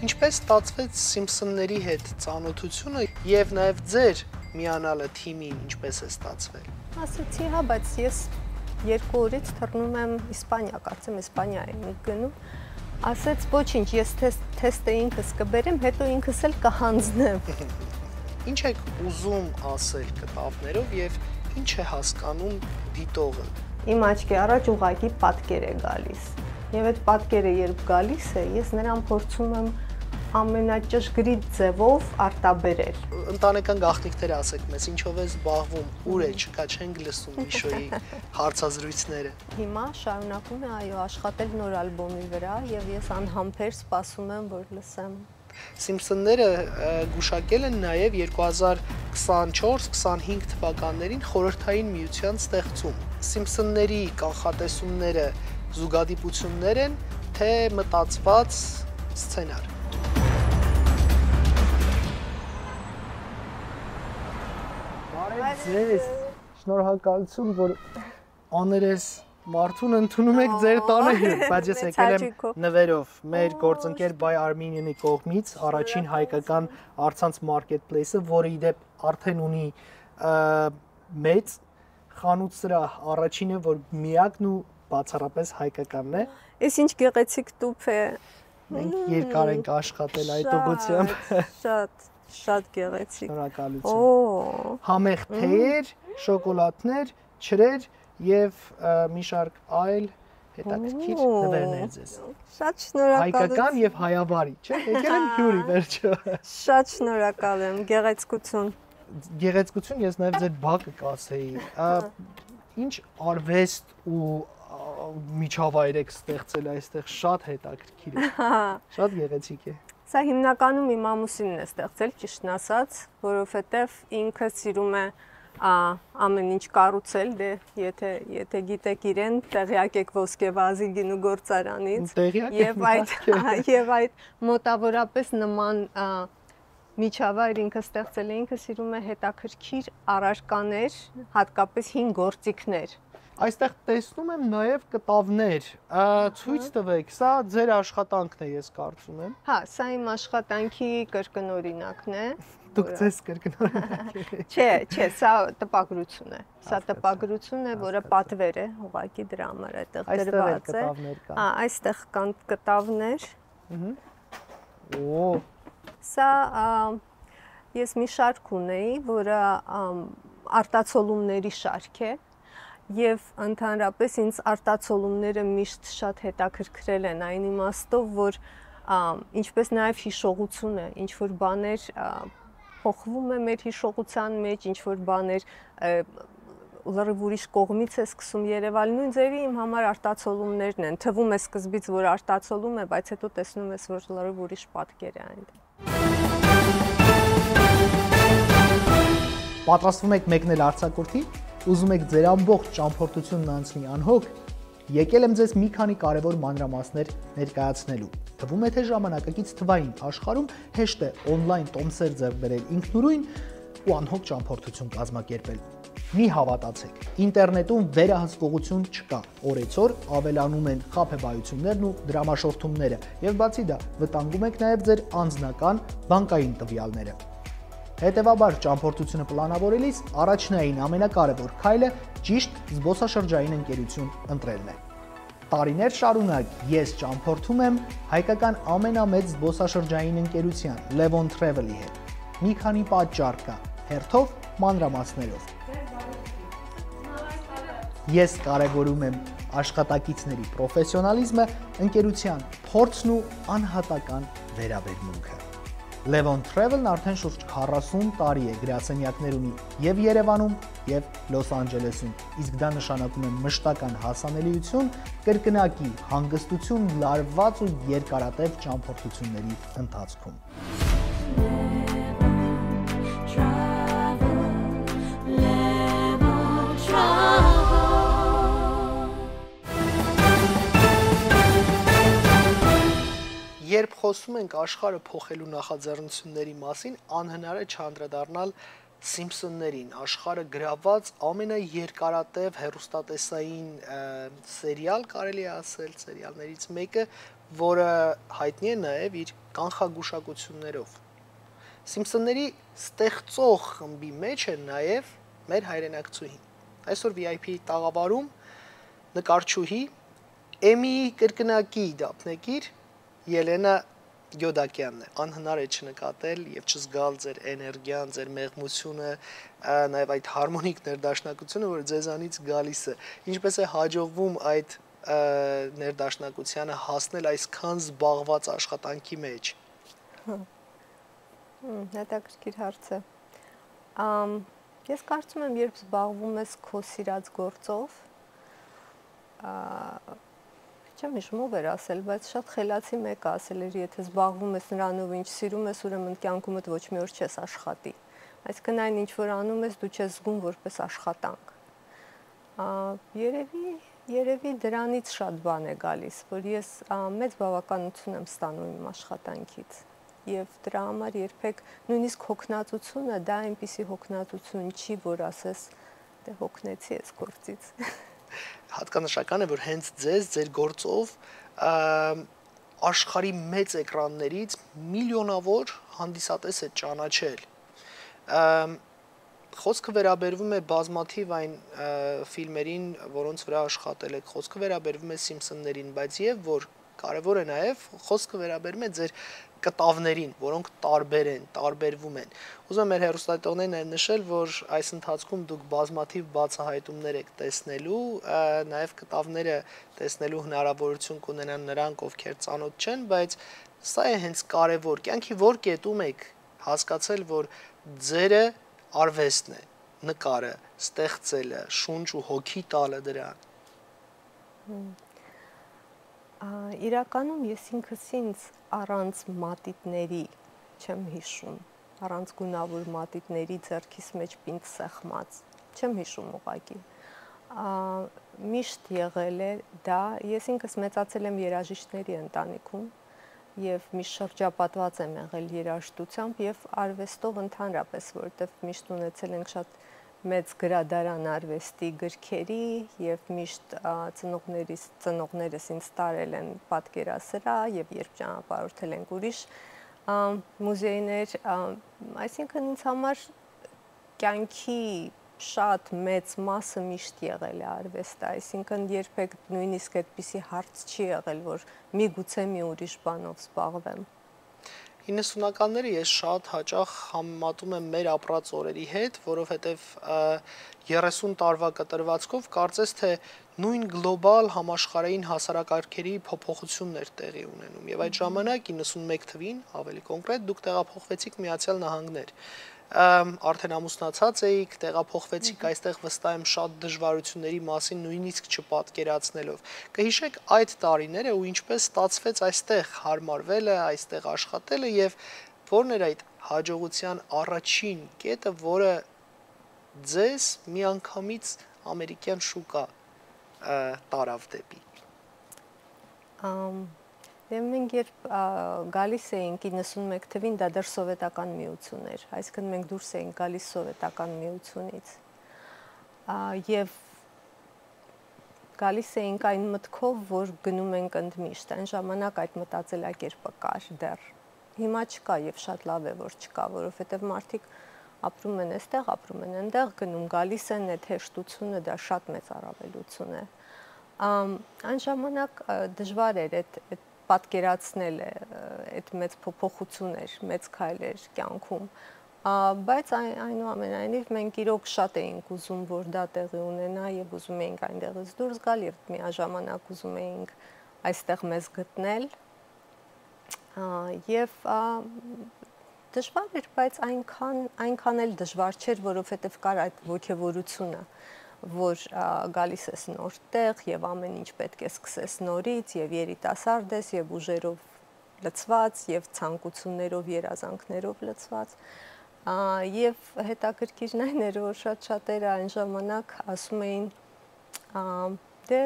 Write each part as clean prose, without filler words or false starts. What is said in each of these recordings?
Ինչպես ստացվեց Սիմփսոնների հետ ծանոթությունը եւ նաեւ ձեր միանալը թիմին ինչպես է ստացվել։ Ասացի, հա, բայց ես 2 օրից թռնում եմ Իսպանիա, կարծեմ Իսպանիա եմ գնում։ Ասեց, ոչինչ, ես թեստը ինքս կբերեմ, հետո ինքս էլ կհանձնեմ։ Ինչ եք ուզում ասել կտավներով եւ ինչ է հասկանում դիտողը։ Իմ աչքի առաջ ուղղակի պատկեր է գալիս։ Եվ այդ պատկերը երբ գալիս է, ես նրան փորձում եմ ամենաճշգրիտ ձևով արտաբերել։ Ընտանեկան գաղտնիքները ասեք մեզ, ինչով է զբաղվում, ուր է, չկա, չենք լսում Միշոյի հարցազրույցները։ Հիմա շարունակում է, այո, աշխատել նոր ալբոմի վրա եւ ես անհամբեր սպասում եմ, որ լսեմ։ Սիմփսոնները գուշակել են նաև 2024-25 թվականներին խորհրդային միության ստեղծում։ Սիմփսոնների կանխատեսումները զուգադիպություններ են, թե մտածված սցենար։ Բարև ձեզ, շնորհակալություն, որ աներես Մարդուն ընդունում եք ձեր տանը հետ, բայց ես եկել եմ նվերով մեր գործընկեր Buy Armenian-ի կողմից առաջին հայկական առցանց մարքեթփլեյսը, որը իդեպ արդեն ունի մեծ խանութ սրահ, առաջինը, որ միակն ու բացառապես հայկականն է։ Էս ինչ գեղեցիկ տուփ է։ Մենք երկար ենք աշխատել այդ ուղղությամբ։ Շատ գեղեցիկ։ Շնորհակալություն։ Համեղ թեյեր, շոկոլադներ, ջրեր եւ մի շարք այլ հետաքրքիր նվերներ ձեզ։ Շատ շնորհակալություն։ Հայկական եւ հայաբարի, չէ՞։ Եկել եմ հյուրի վերջը։ Շատ շնորհակալ եմ, գեղեցկություն։ Գեղեցկություն, ես նաեւ ձեր բակը կասեի։ Ինչ արվեստ ու միջավայր եք ստեղծել այստեղ, շատ հետաքրքիր է։ Շատ գեղեցիկ է։ Սա հիմնականում իմ ամուսինն է ստեղծել, ճիշտն ասած, որովհետեւ ինքը սիրում է ամեն ինչ կառուցել, դե եթե գիտեք իրեն, տեղյակ եք Ոսկեվազի գինու գործարանից եւ այդ մոտավորապես նման միջավայր ինքը ստեղծել է, ինքը սիրում է հետաքրքիր առարկաներ, հատկապես հին գործիքներ։ Այստեղ տեսնում եմ նաև կտավներ, ցույց տվեք, սա ձեր աշխատանքն է, ես կարծում եմ։ Հա, սա իմ աշխատանքի կրկնօրինակն է։ Դուք ձեզ կրկնօրինակ եք։ Չէ, սա տպագրություն է։ Սա տպագրություն է, որը պատվեր է, ուղղակի դրա համար այդտեղ դրված է։ Հա, այստեղ կան կտավներ։ Օ։ Սա ես մի շարք ունեի, որը արտացոլումների շարք է։ Եվ ընդհանրապես ինձ արտացոլումները միշտ շատ հետաքրքրել են այն իմաստով, որ ինչպես նաև հիշողությունը, ինչ որ բաներ փոխվում է մեր հիշողության մեջ, ինչ որ բաներ լրիվ ուրիշ կողմից է սկսում երևալ, նույն ձևի իմ համար արտացոլումներն են։ Թվում է սկզբից, որ արտացոլում է, բայց հետո տեսնում ես, որ լրիվ ուրիշ պատկեր է այնտեղ։ Պատրաստվում եք մեկնել արձակուրդի, ուզում եք ձեր ամբողջ ճամփորդությունն անցնի անհոգ, եկել եմ ձեզ մի քանի կարևոր մանրամասներ ներկայացնելու։ Թվում է, թե ժամանակակից թվային աշխարհում հեշտ է օնլայն տոմսեր ձեռք բերել ինքնուրույն ու անհոգ ճամփորդություն կազմակերպել։ Մի հավատացեք, ինտերնետում վերահսկողություն չկա։ Օրեցօր ավելանում են խաբեբայություններն ու դրամաշորթումները, եւ բացի դա, վտանգում եք նաեւ ձեր անձնական բանկային տվյալները։ Հետևաբար ճամփորդությունը պլանավորելիս առաջնային ամենակարևոր քայլը ճիշտ զբոսաշրջային ընկերություն ընտրելն է։ Տարիներ շարունակ ես ճամփորդում եմ հայկական ամենամեծ զբոսաշրջային ընկերության Levon Travel-ի հետ։ Մի քանի պատճառ կա, հերթով մանրամասներով։ Ես կարևորում եմ աշխատակիցների պրոֆեսիոնալիզմը, ընկերության փորձն ու անհատական վերաբերմունքը։ Levon Travel-ն արդեն շուրջ 40 տարի է գրասենյակներ ունի եւ Երևանում, եւ Լոս Անջելեսում, իսկ դա նշանակում է մշտական հասանելիություն, կրկնակի հանգստություն, լարված ու երկարատև ճամփորդությունների ընթացքում։ Երբ խոսում ենք աշխարհը փոխելու նախաձեռնությունների մասին, անհնար է չանդրադառնալ Սիմփսոններին, աշխարհը գրաված ամենաերկարատև հեռուստատեսային սերիալ կարելի է ասել, սերիալներից մեկը, որը հայտնի է նաև իր կանխագուշակություններով։ Սիմփսոնների ստեղծող խմբի մեջ է նաև մեր հայրենակցուհին։ Այսօր VIP տաղավարում նկարչուհի Էմիի կրկնակի դափնեկիր Ելենա Գյոդակյանն է։ Անհնար է չնկատել եւ չզգալ ձեր էներգիան, ձեր մեղմությունը, նաեւ այդ հարմոնիկ ներդաշնակությունը, որ ձեզանից գալիս է։ Ինչպես է հաջողվում այդ ներդաշնակությանը հասնել այսքան զբաղված աշխատանքի մեջ։ Հետաքրքիր հարց է։ Ես կարծում եմ, երբ զբաղվում ես քո սիրած գործով, չեմ հիշում ով էր ասել, բայց շատ խելացի մեկը ասել էր, եթե զբաղվում ես նրանով, ինչ սիրում ես, ուրեմն կյանքումդ ոչ մի օր չես աշխատի։ Այսինքն այն ինչ որ անում ես, դու չես զգում որպես աշխատանք։ Երևի դրանից շատ բան է գալիս, որ ես մեծ բավականություն եմ ստանում իմ աշխատանքից։ Եվ դրա համար երբեք նույնիսկ հոգնածությունը դա այնպիսի հոգնածություն չի, որ ասես դե հոգնեցի ես գործից։ Հատկանշական է, որ հենց ձեր գործով աշխարհի մեծ էկրաններից միլիոնավոր հանդիսատես է ճանաչել։ Խոսքը վերաբերվում է բազմաթիվ այն ֆիլմերին, որոնց վրա աշխատել եք, խոսքը վերաբերվում է Սիմփսոններին, բայց եւ որ կարևոր է նաեւ խոսքը վերաբերում է ձեր կտավներին, որոնք տարբեր են, տարբերվում են։ Ուզում եմ մեր հեռուստադիտողներին նաև նշել, որ այս ընթացքում դուք բազմաթիվ բացահայտումներ եք տեսնելու, նաև կտավները տեսնելու հնարավորություն կունենան նրանք, ովքեր ծանոթ չեն, բայց սա է հենց կարևոր։ Կյանքի որ կետում եք հասկացել, որ ձերը արվեստն է, նկարը, ստեղծելը, շունչ ու հոգի տալը դրան։ Իրականում ես ինքս ինձ առանց մատիտների չեմ հիշում, առանց գունավոր մատիտների ձեռքիս մեջ պինդ սեղմած, չեմ հիշում ուղղակի։ Միշտ եղել է դա, ես ինքս մեծացել եմ երաժիշտների ընտանիքում եւ միշտ շրջապատված եմ եղել երաժշտությամբ եւ արվեստով ընդհանրապես, որովհետեւ միշտ ունեցել ենք շատ մեծ գրադարան արվեստի գրքերի եւ միշտ ծնողներս ինձ տարել են պատկերասրահ եւ երբ ճանապարհորդել ենք ուրիշ մուզեյներ, այսինքն ինձ համար կյանքի շատ մեծ մասը միշտ եղել է արվեստը, այսինքն երբեք նույնիսկ այդպիսի հարց չի եղել, որ միգուցե մի ուրիշ բանով զբաղվեմ։ 90-ականները ես շատ հաճախ համեմատում եմ մեր ապրած օրերի հետ, որովհետև 30 տարվա կտրվածքով կարծես թե նույն գլոբալ համաշխարհային հասարակարգերի փոփոխություններ տեղի ունենում։ Եվ այդ ժամանակ 91 թվին, ավելի կոնկրետ, դուք տեղափոխվեցիք Միացյալ Նահանգներ։ Արդեն ամուսնացած էիք, տեղափոխվեցիք այստեղ վստահ եմ շատ դժվարությունների մասին նույնիսկ չպատկերացնելով։ Կհիշեք այդ տարիները ու ինչպես ստացվեց այստեղ հարմարվելը, այստեղ աշխատելը եւ որն էր այդ հաջողության առաջին կետը, որը ձեզ միանգամից ամերիկյան շուկա տարավ դեպի։ Դե մենք երբ գալիս էինք 91 թվին, դա դեռ սովետական միություն էր, այսինքն մենք դուրս էինք գալիս սովետական միությունից եւ գալիս էինք այն մտքով, որ գնում ենք ընդմիշտ, այն ժամանակ այդ մտածելակերպը կար դեռ, հիմա չկա եւ շատ լավ է, որ չկա, որովհետեւ մարդիկ ապրում են այստեղ, ապրում են այնտեղ, գնում գալիս են, այդ հեշտությունը դա շատ մեծ առավելություն է։ Այն ժամանակ դժվար էր այդ պատկերացնել այդ մեծ փոփոխություններ, մեծ քայլեր կյանքում, բայց այնուամենայնիվ մենք իրոք շատ էինք ուզում, որ դա տեղի ունենա եւ ուզում էինք այնտեղից դուրս գալ եւ միաժամանակ ուզում էինք այստեղ մեզ գտնել եւ դժվար էր, բայց այնքան էլ դժվար չէր, որովհետեւ կար այդ ոգևորությունը, որ գալիս ես նոր տեղ եւ ամեն ինչ պետք է սկսես նորից եւ երիտասարդ ես եւ ուժերով լցված եւ ցանկություններով, երազանքներով լցված եւ հետաքրքիրն այն էր, որ շատ-շատերը այն ժամանակ ասում էին դե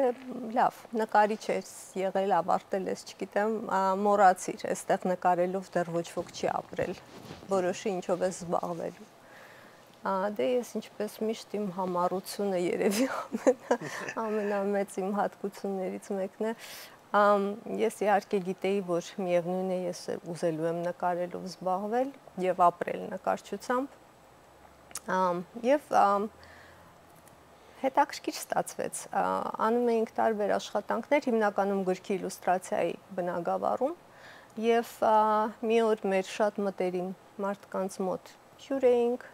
լավ, նկարիչ ես եղել, ավարտել ես, չգիտեմ, մոռացիր, այստեղ նկարելով դեռ ոչ ոք չի ապրել, որոշի ինչով ես զբաղվելու։ Դե ես ինչպես միշտ իմ համառությունը երևի ամենամեծ իմ հատկություններից մեկն է, Ես իհարկե գիտեի, որ միևնույն է ես ուզելու եմ նկարելով զբաղվել եւ ապրել նկարչությամբ։ Եվ հետաքրքիր ստացվեց։ Անում էինք տարբեր աշխատանքներ, հիմնականում գրքի իլյուստրացիայի բնագավառում, եւ մի օր մեր շատ մտերիմ մարդկանց մոտ հյուր էինք,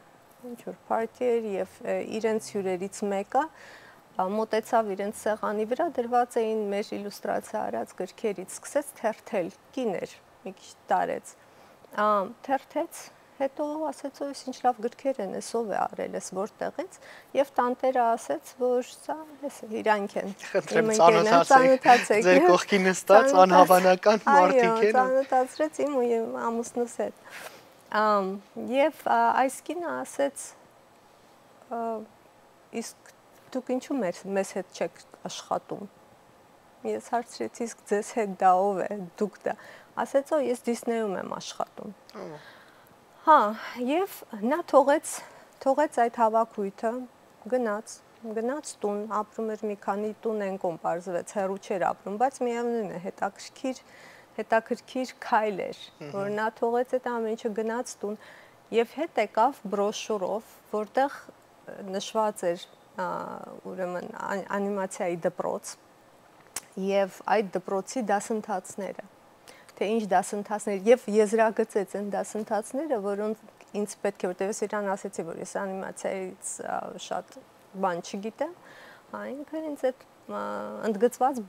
ինչ-որ party էր եւ իրենց հյուրերից մեկը մոտեցավ իրենց սեղանի վրա, դրված էին մեր իլյուստրացիա արած գրքերից, սկսեց թերթել, կին էր, մի քիչ տարեց, թերթեց, հետո ասեց, ո՞յ ինչ լավ գրքեր են, էս ով է արել, էս որտեղից, եւ տանտերը ասեց, որ սա իրանք են։ Խնդրեմ ծանոթացեք, ձեր կողքի նստած անհավանական մարդիկ են։ Այո, ծանոթացրեց իմ ու ամուսնուս հետ։ Եվ այս կինը ասեց, իսկ դուք ինչու մեզ հետ չեք աշխատում։ Ես հարցրեցի, իսկ ձեզ հետ դա ով է, դուք դա։ Ասեց, ես Դիսնեյում եմ աշխատում։ Հա, եւ նա թողեց այդ հավաքույթը, գնաց տուն, ապրում էր մի քանի տուն են կողմ բարձվեց, հեռու չէր ապրում, բայց միևնույն է, հետաքրքիր քայլ էր, որ նա թողեց այդ ամեն ինչը, գնաց տուն եւ հետ եկավ բրոշուրով, որտեղ նշված էր ուրեմն անիմացիայի դպրոց եւ այդ դպրոցի դասընթացները, թե ինչ դասընթացներ եւ եզրագծեց այն դասընթացները, որոնց ինձ պետք է, որտեղ ես իրան ասեցի, որ ես անիմացիայից շատ բան չգիտեմ, ինքը ինձ այդ ընդգծված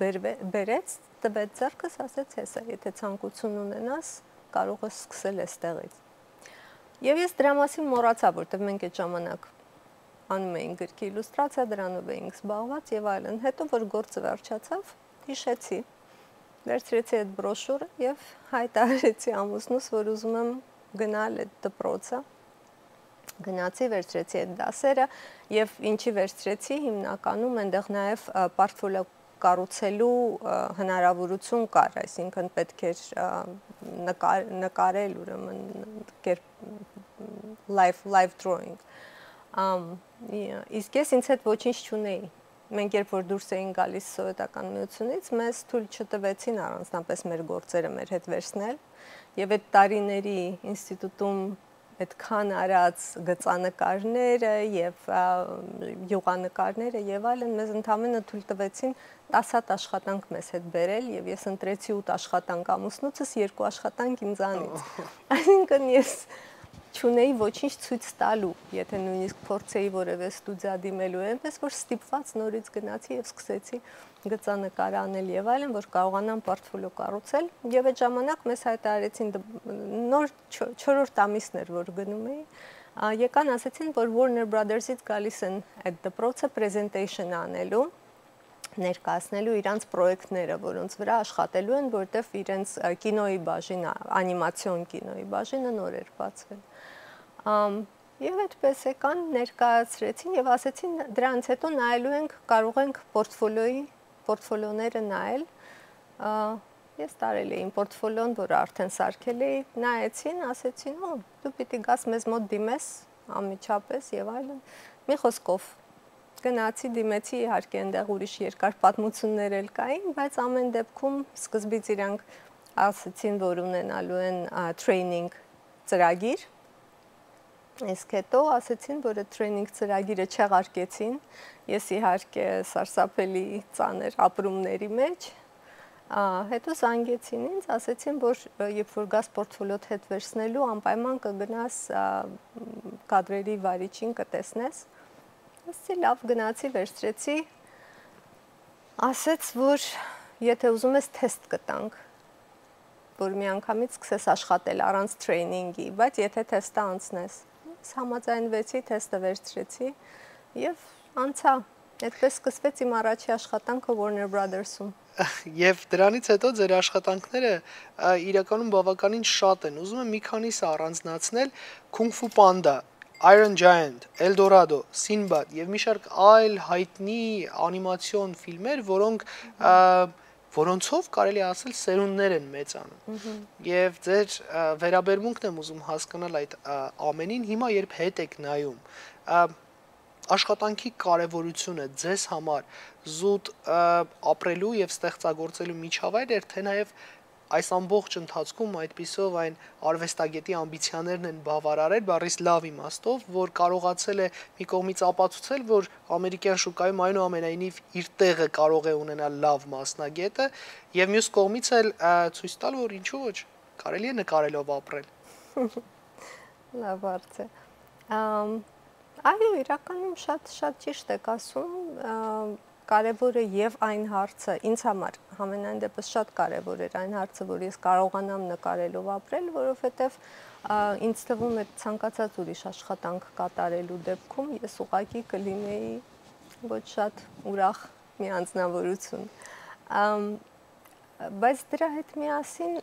բերեց, տվեց ձեռքս, ասեց, հեսա, եթե ցանկություն ունենաս, կարող ես սկսել այստեղից։ Եվ ես դրա մասին մոռացա, որտեղ մենք այդ ժամանակ անում էինք գրքի իլյուստրացիա, դրանով էինք զբաղված եւ այլն։ Հետո որ գործը վերջացավ, հիշեցի, վերցրեցի այդ բրոշուրը եւ հայտարարեցի ամուսնուս, որ ուզում եմ գնալ այդ դպրոցը։ Գնացի, վերցրեցի այդ դասերը եւ ինչի վերցրեցի, հիմնականում այնտեղ նաեւ պորտֆոլիո կառուցելու հնարավորություն կար, այսինքն պետք էր նկարել, ուրեմն live drawing։ Իսկ ես ինձ հետ ոչինչ չունեի։ Մենք երբ որ դուրս էին գալիս սովետական միությունից, մեզ թույլ չտվեցին առանձնապես մեր գործերը մեր հետ վերցնել, եւ այդ տարիների ինստիտուտում այդքան արած գծանկարները եւ յուղանկարները եւ այլն մեզ ընդամենը թույլ տվեցին 10 հատ աշխատանք մեզ հետ բերել եւ ես ընտրեցի 8 աշխատանք ամուսնուցս, 2 աշխատանք ինձանից։ Այսինքն ես չունեի ոչինչ ցույց տալու, եթե նույնիսկ փորձեի որևէ ստուդիա դիմելու, այնպես որ ստիպված նորից գնացի եւ սկսեցի գծանկար անել եւ այլն, որ կարողանամ պորտֆոլիո կառուցել եւ այդ ժամանակ մեզ հայտարարեցին նոր 4-րդ ամիսն էր, որ գնում էի, եկան ասեցին, որ Warner Brothers-ից գալիս են այդ դպրոցը presentation անելու, ներկայացնելու իրանց պրոյեկտները, որոնց վրա աշխատելու են, որտեվ իրենց կինոյի բաժինը, անիմացիոն կինոյի բաժինը նոր էր բացվել։ Եվ այդպես եկան, ներկայացրեցին եւ ասեցին դրանից հետո նայելու ենք, կարող ենք պորտֆոլիոները նայել։ Ես տարել էի պորտֆոլիոն, որը արդեն սարքել էի, նայեցին, ասեցին, դու պիտի գաս մեզ մոտ դիմես անմիջապես եւ այլն։ Մի խոսքով գնացի, դիմեցի, իհարկե այնտեղ ուրիշ երկար պատմություններ էլ կային, բայց ամեն դեպքում սկզբից իրանք ասեցին, որ ունենալու են training ծրագիր, իսկ հետո ասեցին, որ այդ training ծրագիրը չեղարկեցին, ես իհարկե սարսափելի ծանր ապրումների մեջ, հետո զանգեցին ինձ, ասեցին, որ երբ որ գաս պորտֆոլիոդ հետ վերցնելու, անպայման կգնաս կադրերի վարիչին կտեսնես, ասեցի, լավ, գնացի, վերցրեցի, ասեց, որ եթե ուզում ես թեստ կտանք, որ մի անգամից սկսես աշխատել առանց տրեյնինգի, բայց եթե թեստը անցնես, համաձայնվեցի, թեստը վերցրեցի եւ անցա, այդպես սկսվեց իմ առաջի աշխատանքը Warner Brothers-ում։ Եվ դրանից հետո ձեր աշխատանքները իրականում բավականին շատ են, ուզում եմ մի քանիսը առանձնացնել, Kung Fu Panda, Iron Giant, El Dorado, Sinbad եւ մի շարք այլ հայտնի անիմացիոն ֆիլմեր, որոնցով կարելի ասել սերունդներ են մեծանում։ Եվ ձեր վերաբերմունքն եմ ուզում հասկանալ այդ ամենին, հիմա երբ հետ եք նայում, աշխատանքի կարևորությունը ձեզ համար զուտ ապրելու եւ ստեղծագործելու միջավայր էր, թե նաեւ այս ամբողջ ընթացքում այդպիսով այն արվեստագետի ամբիցիաներն են բավարարել բառից լավ իմաստով, որ կարողացել է մի կողմից ապացուցել, որ ամերիկյան շուկայում այնուամենայնիվ իր տեղը կարող է ունենալ լավ մասնագետը, եւ մյուս կողմից էլ ցույց տալ, որ ինչու ոչ, կարելի է նկարելով ապրել։ Լավ հարց է։ Այո, իրականում շատ ճիշտ եք ասում, կարևոր է եւ այն հարցը, ինձ համար համենայն դեպս շատ կարևոր էր այն հարցը, որ ես կարողանամ նկարելով ապրել, որովհետեւ ինձ թվում է ցանկացած ուրիշ աշխատանք կատարելու դեպքում ես ուղղակի կլինեի ոչ շատ ուրախ մի անձնավորություն։ Բայց դրա հետ միասին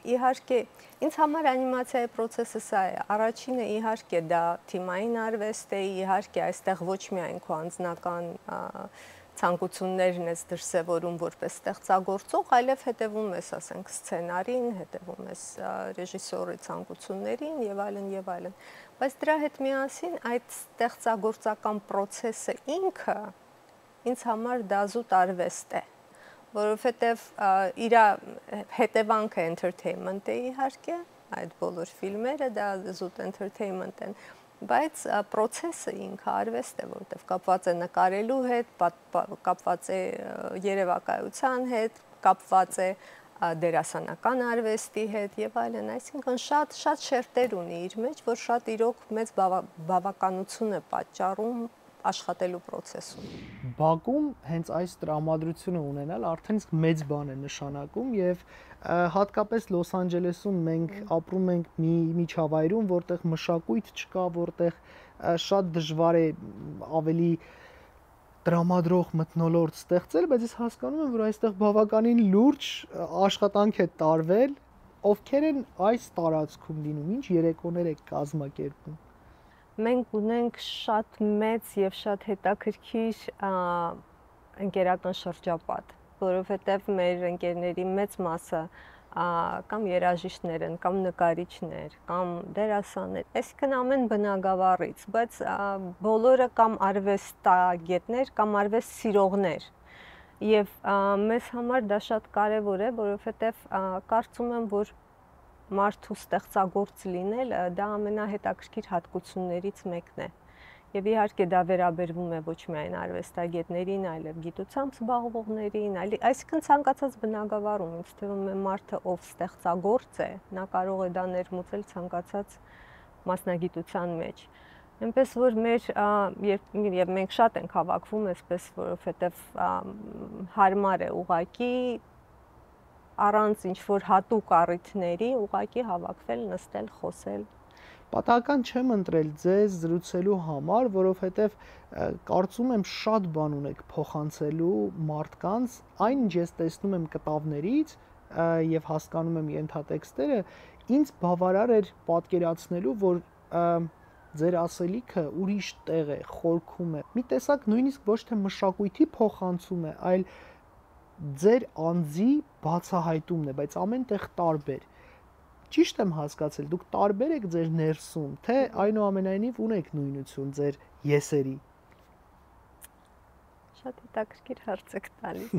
իհարկե ինձ համար անիմացիայի process-ը սա է։ Առաջինը իհարկե դա թիմային արվեստ է, իհարկե այստեղ ոչ միայն քո անձնական ցանկություններն ես դրսևորում որպես ստեղծագործող, այլև հետևում ես, ասենք, սցենարին, հետևում ես ռեժիսորի ցանկություններին եւ այլն եւ այլն։ Բայց դրա հետ միասին այդ ստեղծագործական process-ը ինքը ինձ համար դա զուտ արվեստ է, որովհետև իր հետևանքը entertainment է իհարկե, այդ բոլոր ֆիլմերը դա զուտ entertainment են, բայց process-ը ինքը արվեստ է, որովհետև կապված է նկարելու հետ, կապված է երևակայության հետ, կապված է դերասանական արվեստի հետ եւ այլն, այսինքն շատ շերտեր ունի իր մեջ, որ շատ իրոք մեծ բավականություն է պատճառում աշխատելու process-ում։ Բաքում հենց այս տրամադրությունը ունենալ արդեն իսկ մեծ բան է նշանակում եւ հատկապես Լոս Անջելեսում մենք ապրում ենք մի միջավայրում, որտեղ մշակույթ չկա, որտեղ շատ դժվար է ավելի տրամադրող մթնոլորտ ստեղծել, բայց ես հասկանում եմ, որ այստեղ բավականին լուրջ աշխատանք է տարվել, ովքեր են այս տարածքում լինում, ինչ երեկոներ եք կազմակերպում։ Մենք ունենք շատ մեծ եւ շատ հետաքրքիր ընկերական շրջապատ, որովհետեւ մեր ընկերների մեծ մասը կամ երաժիշտներ են, կամ նկարիչներ, կամ դերասաններ, այսինքն ամեն բնագավառից, բայց բոլորը կամ արվեստագետներ, կամ արվեստ սիրողներ։ Եվ մեզ համար դա շատ կարևոր է, որովհետեւ կարծում եմ, որ մարդու ստեղծագործ լինելը դա ամենահետաքրքիր հատկություններից մեկն է։ Եվ իհարկե դա վերաբերվում է ոչ միայն արվեստագետներին, այլև գիտությամբ զբաղվողներին, այսինքն ցանկացած բնագավառում, ինձ թվում է մարդը, ով ստեղծագործ է, նա կարող է դա ներմուծել ցանկացած մասնագիտության մեջ։ Այնպես որ եւ մենք շատ ենք հավաքվում այսպես, որովհետեւ հարմար է ուղակի առանց ինչ-որ հատուկ առիթների ուղղակի հավաքվել, նստել, խոսել։ Պատահական չեմ ընտրել ձեզ զրուցելու համար, որովհետև կարծում եմ շատ բան ունեք փոխանցելու մարդկանց, այն ինչ ես տեսնում եմ կտավներից եւ հասկանում եմ ենթատեքստերը, ինձ բավարար էր պատկերացնելու, որ ձեր ասելիքը ուրիշ տեղ է, խորքում է։ Մի տեսակ նույնիսկ ոչ թե մշակույթի փոխանցում է, այլ ձեր անձի բացահայտումն է, բայց ամենտեղ տարբեր։ Ճիշտ եմ հասկացել, դուք տարբեր եք ձեր ներսում, թե այնուամենայնիվ ունեք նույնություն ձեր եսերի։ Շատ հետաքրքիր հարց եք տալիս։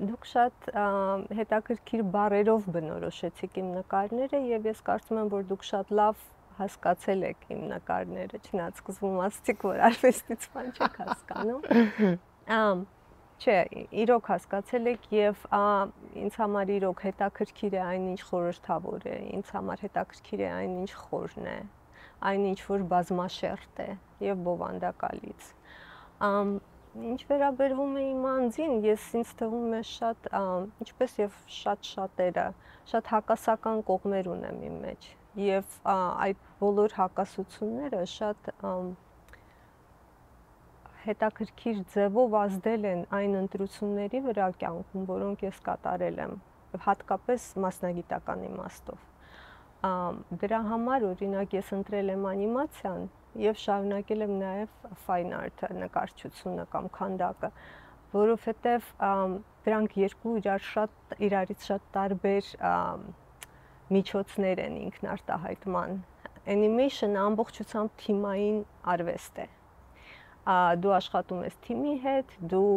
Դուք շատ հետաքրքիր բառերով բնորոշեցիք իմ նկարները եւ ես կարծում եմ, որ դուք շատ լավ հասկացել եք իմ նկարները, չնայած սկզբում ասացիք, որ արվեստից բան չեք հասկանում։ Չէ, իրոք հասկացել եք եւ ինձ համար իրոք հետաքրքիր է այն ինչ խորհրդավոր է, ինձ համար հետաքրքիր է այն ինչ խորն է, այն ինչ որ բազմաշերտ է եւ բովանդակալից։ Ինչ վերաբերվում է իմ անձին, ինձ թվում է շատ, ինչպես եւ շատերը, շատ հակասական կողմեր ունեմ իմ մեջ եւ այդ բոլոր հակասությունները շատ հետաքրքիր ձևով ազդել են այն ընտրությունների վրա կյանքում, որոնք ես կատարել եմ, հատկապես մասնագիտական իմաստով։ Դրա համար օրինակ ես ընտրել եմ անիմացիան եւ շարունակել եմ նաեւ fine art-ը, նկարչությունը կամ քանդակը, որովհետեւ դրանք երկու իրարից շատ տարբեր միջոցներ են ինքնարտահայտման։ Animation-ը ամբողջությամբ թիմային արվեստ է։ դու աշխատում ես թիմի հետ, դու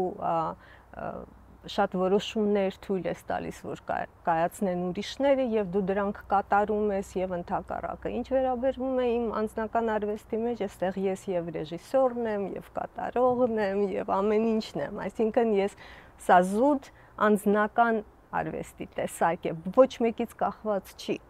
շատ որոշումներ թույլ ես տալիս, որ կայացնեն ուրիշները եւ դու դրանք կատարում ես եւ ընդհակառակը։ Ինչ վերաբերվում է իմ անձնական արվեստի մեջ, այստեղ ես եւ ռեժիսորն եմ, եւ կատարողն եմ, եւ ամեն ինչն եմ։ Այսինքն ես սա զուտ անձնական արվեստի տեսակ է, ոչ մեկից կախված չի։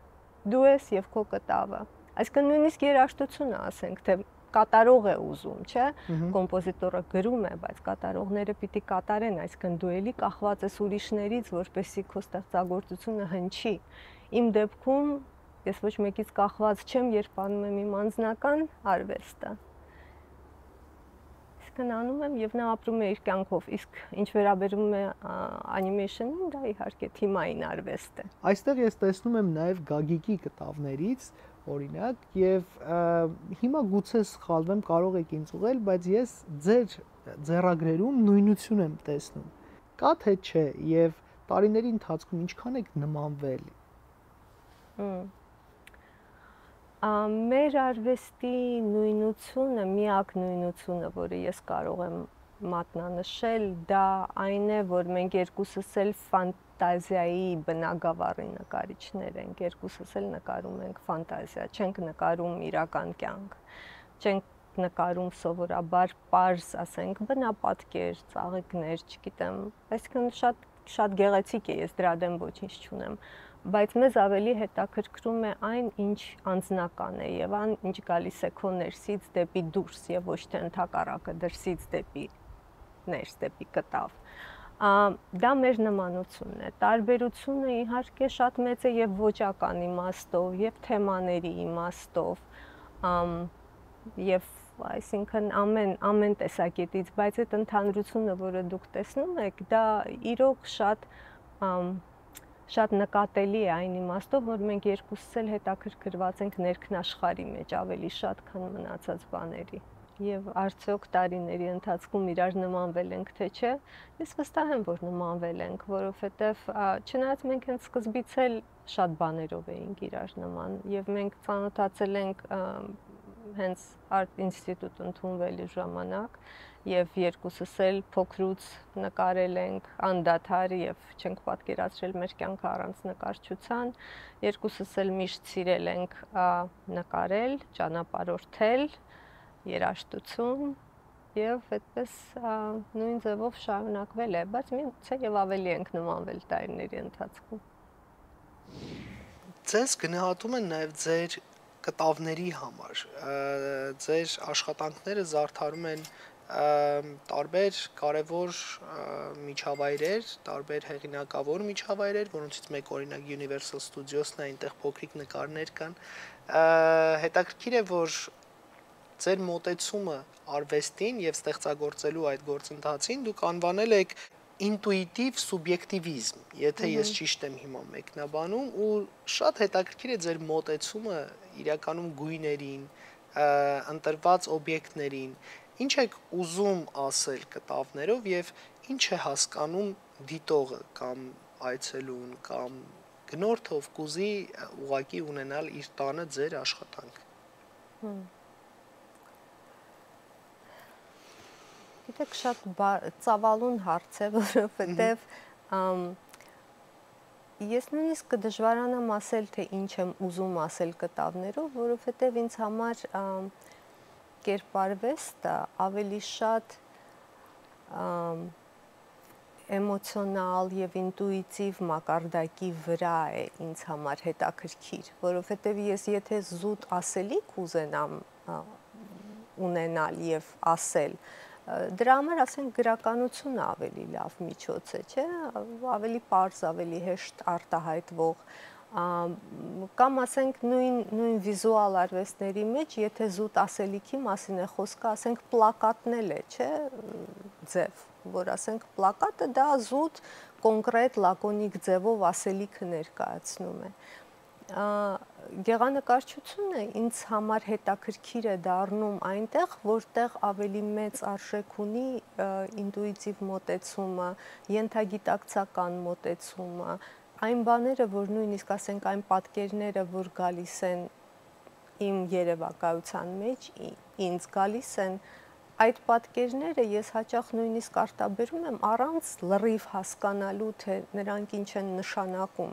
Դու ես եւ քո կտավը։ Այսինքն նույնիսկ երաժշտությունը, ասենք, թե կատարող է ուզում, չէ՞, կոմպոզիտորը գրում է, բայց կատարողները պիտի կատարեն, այսինքն դու էլի կախված ես ուրիշներից, որպեսզի քո ստեղծագործությունը հնչի։ Իմ դեպքում ես ոչ մեկից կախված չեմ, երբ անում եմ իմ անձնական արվեստը։ Այսինքն անում եմ եւ նա ապրում է իր կյանքով, իսկ ինչ վերաբերում է անիմեյշնին, դա իհարկե թիմային արվեստ է։ Այստեղ ես տեսնում եմ նաեւ Գագիկի կտավներից օրինակ եւ հիմա գուցե սխալվեմ, կարող եք ինձ ուղղել, բայց ես ձեր ձեռագրերում նույնություն եմ տեսնում։ Կա թե չէ եւ տարիների ընթացքում ինչքան եք նմանվել։ Մեր արվեստի նույնությունը, միակ նույնությունը, որը ես կարող եմ մատնանշել, դա այն է, որ մենք երկուսս էլ ֆանտազիայի բնագավառի նկարիչներ ենք, երկուսս էլ նկարում ենք ֆանտազիա, չենք նկարում իրական կյանք, չենք նկարում սովորաբար պարզ, ասենք, բնապատկեր, ծաղիկներ, չգիտեմ, այսինքն շատ գեղեցիկ է, ես դրա դեմ ոչինչ չունեմ, բայց մեզ ավելի հետաքրքրում է այն, ինչ անձնական է եւ այն, ինչ գալիս է քո ներսից դեպի դուրս եւ ոչ թե ընդհակառակը դրսից դեպի ներս, դեպի կտավ։ Դա մեր նմանությունն է։ Տարբերությունը իհարկե շատ մեծ է եւ ոճական իմաստով, եւ թեմաների իմաստով, եւ այսինքն ամեն տեսակետից, բայց այդ ընդհանրությունը, որը դուք տեսնում եք, դա իրոք շատ նկատելի է այն իմաստով, որ մենք երկուսս էլ հետաքրքրված ենք ներքնաշխարհի մեջ ավելի շատ, քան մնացած բաների։ Եվ արդյոք տարիների ընթացքում իրար նմանվել ենք, թե չէ, ես վստահ եմ, որ նմանվել ենք, որովհետև չնայած մենք հենց սկզբից էլ շատ բաներով էինք իրար նման, եւ մենք ծանոթացել ենք հենց արտ ինստիտուտ ընդունվելու ժամանակ, եւ երկուսս էլ փոքրուց նկարել ենք անդադար եւ չենք պատկերացրել մեր կյանքը առանց նկարչության, երկուսս էլ միշտ սիրել ենք նկարել, ճանապարհորդել, երաժշտություն եւ այդպես նույն ձևով շարունակվել է, բայց միգուցե եւ ավելի ենք նմանվել տարիների ընթացքում։ Ձեզ գնահատում են նաեւ ձեր կտավների համար, ձեր աշխատանքները զարդարում են տարբեր կարևոր միջավայրեր, տարբեր հեղինակավոր միջավայրեր, որոնցից մեկ օրինակ Universal Studios-ն է, այնտեղ փոքրիկ նկարներ կան։ Հետաքրքիր է, որ ձեր մոտեցումը արվեստին եւ ստեղծագործելու այդ գործընթացին դուք անվանել եք ինտուիտիվ սուբյեկտիվիզմ, եթե ես ճիշտ եմ հիմա մեկնաբանում, ու շատ հետաքրքիր է ձեր մոտեցումը իրականում գույներին, ընտրված օբյեկտներին, ինչ եք ուզում ասել կտավներով եւ ինչ է հասկանում դիտողը կամ այցելուն կամ գնորդը, ով կուզի ուղակի ունենալ իր տանը ձեր աշխատանք։ Գիտեք, շատ ծավալուն հարց է, որովհետև ես նույնիսկ կդժվարանամ ասել, թե ինչ եմ ուզում ասել կտավներով, որովհետև ինձ համար կերպարվեստը ավելի շատ էմոցիոնալ եւ ինտուիտիվ մակարդակի վրա է ինձ համար հետաքրքիր, որովհետև ես եթե զուտ ասելիք ուզենամ ունենալ եւ ասել, դրա համար ասենք գրականությունը ավելի լավ միջոց է, չէ՞, ավելի պարզ, ավելի հեշտ արտահայտվող, կամ ասենք նույն վիզուալ արվեստների մեջ, եթե զուտ ասելիքի մասին է խոսքը, ասենք պլակատն էլ է, չէ՞, ձև, որ ասենք պլակատը դա զուտ կոնկրետ լակոնիկ ձևով ասելիքը ներկայացնում է։ Գեղանկարչությունը ինձ համար հետաքրքիր է դառնում այնտեղ, որտեղ ավելի մեծ արժեք ունի ինտուիտիվ մոտեցումը, ենթագիտակցական մոտեցումը, այն բաները, որ նույնիսկ ասենք այն պատկերները, որ գալիս են իմ երևակայության մեջ, ինձ գալիս են այդ պատկերները ես հաճախ նույնիսկ արտաբերում եմ առանց լրիվ հասկանալու, թե նրանք ինչ են նշանակում։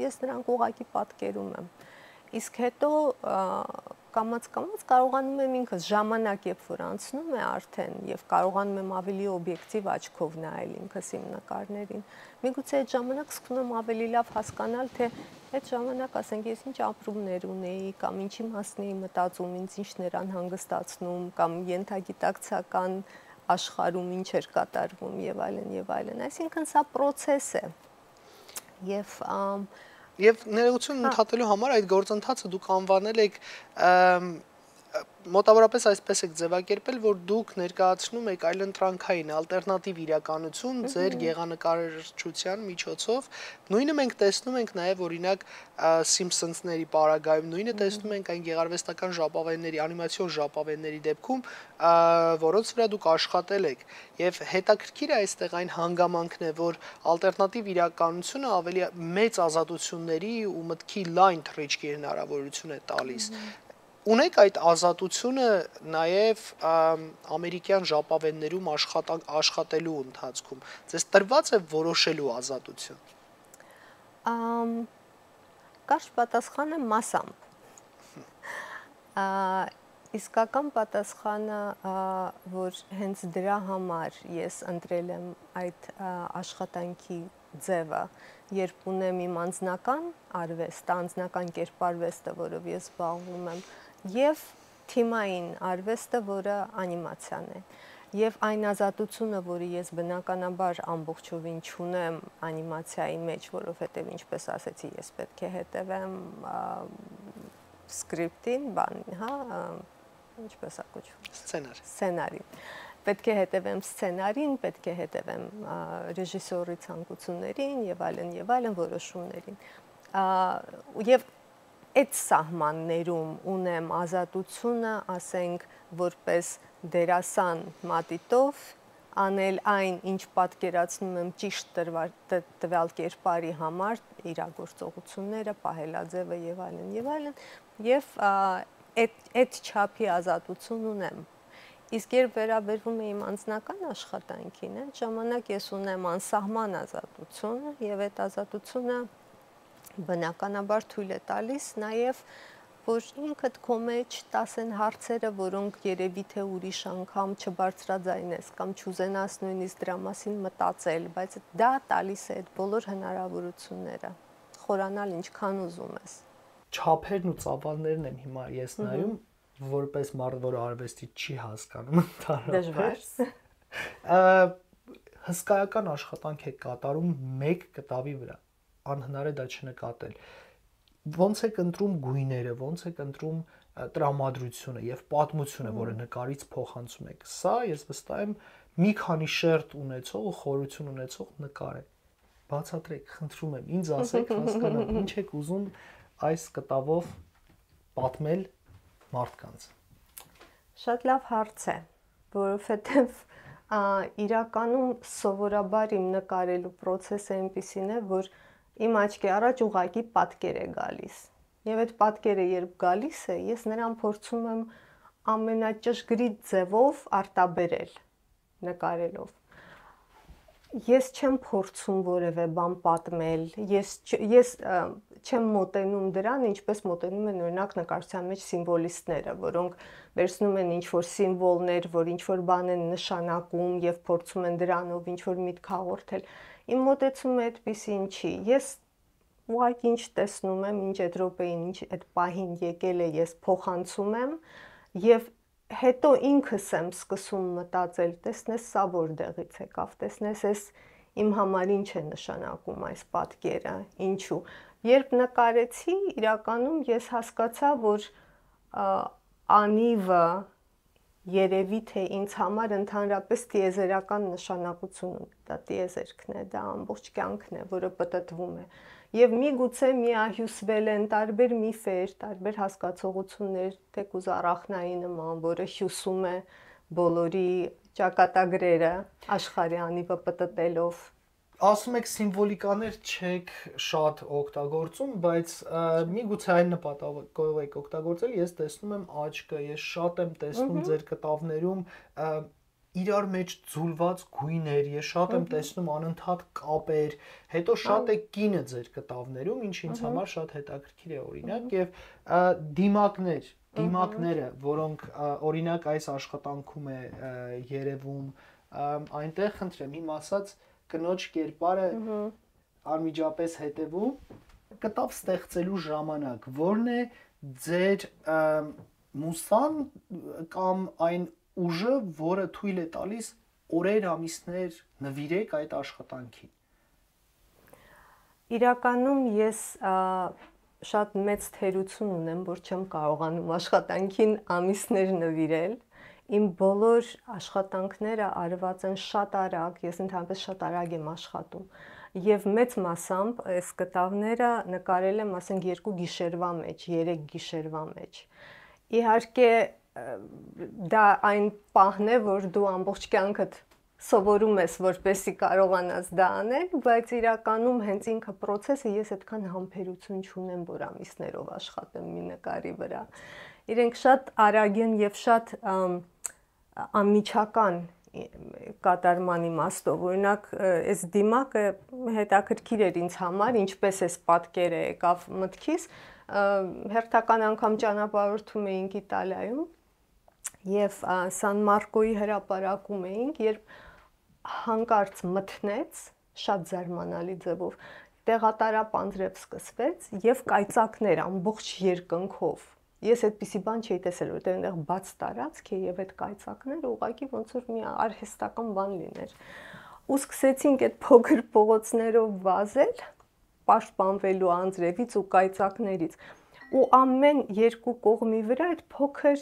Ես նրանք ուղղակի պատկերում եմ։ Իսկ հետո կամաց-կամաց կարողանում եմ ինքս ժամանակ, երբ որ անցնում է արդեն եւ կարողանում եմ ավելի օբյեկտիվ աչքով նայել ինքս իմ նկարներին, միգուցե այդ ժամանակ սկսում եմ ավելի լավ հասկանալ, թե այդ ժամանակ, ասենք, ես ինչ ապրումներ ունեի, կամ ինչի մասին էի մտածում, ինձ ինչն էր անհանգստացնում, կամ ենթագիտակցական աշխարհում ինչ էր կատարվում եւ այլն եւ այլն։ Այսինքն սա process է։ Եվ ներողություն ընդհատելու համար այդ գործընթացը դուք անվանել եք մոտավորապես այսպես եք ձևակերպել, որ դուք ներկայացնում եք այլընտրանքային ալտերնատիվ իրականություն ձեր գեղանկարչության միջոցով։ Նույնը մենք տեսնում ենք նաև օրինակ Սիմփսոնսների պարագայում, նույնը տեսնում ենք այն գեղարվեստական ժապավենների, անիմացիոն ժապավենների դեպքում, որոնց վրա դուք աշխատել եք։ Եվ հետաքրքիր է այստեղ այն հանգամանքն է, որ ալտերնատիվ իրականությունը ավելի մեծ ազատությունների ու մտքի լայն թռիչքի հնարավորություն է տալիս։ Ունեք այդ ազատությունը նաև ամերիկյան ժապավեններում աշխատելու ընթացքում։ Ձեզ տրված է որոշելու ազատություն։ Կարճ պատասխանը մասամբ։ Իսկական պատասխանը, որ հենց դրա համար ես ընտրել եմ այդ աշխատանքի ձևը, երբ ունեմ իմ անձնական արվեստ, անձնական կերպարվեստը, որով ես զբաղվում եմ, եւ թիմային արվեստը, որը անիմացիան է, եւ այն ազատությունը, որը ես բնականաբար ամբողջովին չունեմ անիմացիայի մեջ, որովհետեւ ինչպես ասեցի, ես պետք է հետևեմ սկրիպտին, ինչպես է կոչվում, սցենարին։ Պետք է հետևեմ սցենարին, պետք է հետևեմ ռեժիսորի ցանկություններին եւ այլն որոշումներին։ Եվ այդ սահմաններում ունեմ ազատությունը, ասենք, որպես դերասան մատիտով անել այն, ինչ պատկերացնում եմ ճիշտ տվյալ կերպարի համար, իրագործողությունները, պահելաձևը եւ այլն, եւ այդ չափի ազատություն ունեմ։ Իսկ երբ վերաբերվում է իմ անձնական աշխատանքին, այդ ժամանակ ես ունեմ անսահման ազատություն եւ այդ ազատությունը բնականաբար թույլ է տալիս նաև, որ ինքդ քո մեջ տասեն հարցերը, որոնք երևի թե ուրիշ անգամ չբարձրաձայնես կամ չուզենաս նույնիսկ դրա մասին մտածել, բայց դա տալիս է այդ բոլոր հնարավորությունները, խորանալ ինչքան ուզում ես։ Չափերն ու ծավալներն եմ հիմա ես նայում, որպես մարդ, որը արվեստի չի հասկանում ընդհանրապես։ Հսկայական աշխատանք է կատարում մեկ կտավի վրա, անհնար է դա չնկատել։ Ոնց եք ընտրում գույները, ոնց եք ընտրում տրամադրությունը եւ պատմությունը, որը նկարից փոխանցում եք։ Սա ես վստահ եմ մի քանի շերտ ունեցող ու խորություն ունեցող նկար է։ Բացատրեք, խնդրում եմ, ինձ ասեք, հասկանամ, ինչ եք ուզում այս կտավով պատմել մարդկանց։ Շատ լավ հարց է, որովհետև իրականում սովորաբար իմ նկարելու process-ը այնպիսին է, որ իմ աչքի առաջ ուղղակի պատկեր է գալիս։ Եվ այդ պատկերը երբ գալիս է, ես նրան փորձում եմ ամենաճշգրիտ ձևով արտաբերել նկարելով։ Ես չեմ փորձում որևէ բան պատմել, ես չեմ մոտենում դրան, ինչպես մոտենում են օրինակ նկարչության մեջ սիմվոլիստները, որոնք վերցնում են ինչ-որ սիմվոլներ, որ ինչ-որ բան են նշանակում եւ փորձում են դրանով ինչ-որ միտք հաղորդել։ Իմ մոտեցումը այդպեսին չի։ Ես ուղղակի ինչ տեսնում եմ, ինչ այդ րոպեին, ինչ այդ պահին եկել է, ես փոխանցում եմ եւ հետո ինքս եմ սկսում մտածել, տեսնես սա որտեղից եկավ, տեսնես այս իմ համար ինչ է նշանակում այս պատկերը, ինչու։ Երբ նկարեցի, իրականում ես հասկացա, որ անիվը երևի թե ինձ համար ընդհանրապես տիեզերական նշանակություն ունի, դա տիեզերքն է, դա ամբողջ կյանքն է, որը պտտվում է։ Եվ միգուցե միահյուսվել են տարբեր միֆեր, տարբեր հասկացողություններ, թեկուզ առախնայի նման, որը հյուսում է բոլորի ճակատագրերը աշխարհի անիվը պտտելով։ Ասում եք սիմվոլիկաներ չեք շատ օգտագործում, բայց միգուցե այն նպատակով եք օգտագործել, ես տեսնում եմ աչքը, ես շատ եմ տեսնում ձեր կտավներում իրար մեջ ձուլված գույներ, ես շատ եմ տեսնում անընդհատ կապեր, հետո շատ է կինը ձեր կտավներում, ինչը ինձ համար շատ հետաքրքիր է օրինակ, եւ դիմակները, որոնք օրինակ այս աշխատանքում է երևում, այնտեղ խնդրեմ, իմ ասած կնոջ կերպարը անմիջապես հետևում կտավ ստեղծելու ժամանակ, որն է ձեր մուսան կամ այն ուժը, որը թույլ է տալիս օրեր, ամիսներ նվիրեք այդ աշխատանքին։ Իրականում ես շատ մեծ թերություն ունեմ, որ չեմ կարողանում աշխատանքին ամիսներ նվիրել։ Իմ բոլոր աշխատանքները արված են շատ արագ, ես ընդհանրապես շատ արագ եմ աշխատում։ Եվ մեծ մասամբ այս կտավները նկարել եմ, ասենք 2 գիշերվա մեջ, 3 գիշերվա մեջ։ Իհարկե դա այն պահն է, որ դու ամբողջ կյանքդ սովորում ես, որպեսզի կարողանաս դա անել, բայց իրականում հենց ինքը process-ը ես այդքան համբերություն չունեմ, որ ամիսներով աշխատեմ մի նկարի վրա։ Իրենք շատ արագ են եւ շատ անմիջական կատարման իմաստով, օրինակ այս դիմակը հետաքրքիր էր ինձ համար, ինչպես էս պատկերը եկավ մտքիս, հերթական անգամ ճանապարհորդում էինք Իտալիայում եւ Սան Մարկոյի հրապարակում էինք, երբ հանկարծ մթնեց շատ զարմանալի ձևով, տեղատարապ անձրև սկսվեց եւ կայծակներ ամբողջ երկնքով։ Ես այդպիսի բան չէի տեսել, որտեղ այնտեղ բաց տարածք է եւ այդ կայծակները ուղղակի ոնց որ մի արհեստական բան լիներ։ Ու սկսեցինք այդ փոքր փողոցներով վազել, պաշտպանվելու անձրևից ու կայծակներից։ Ու ամեն 2 կողմի վրա այդ փոքր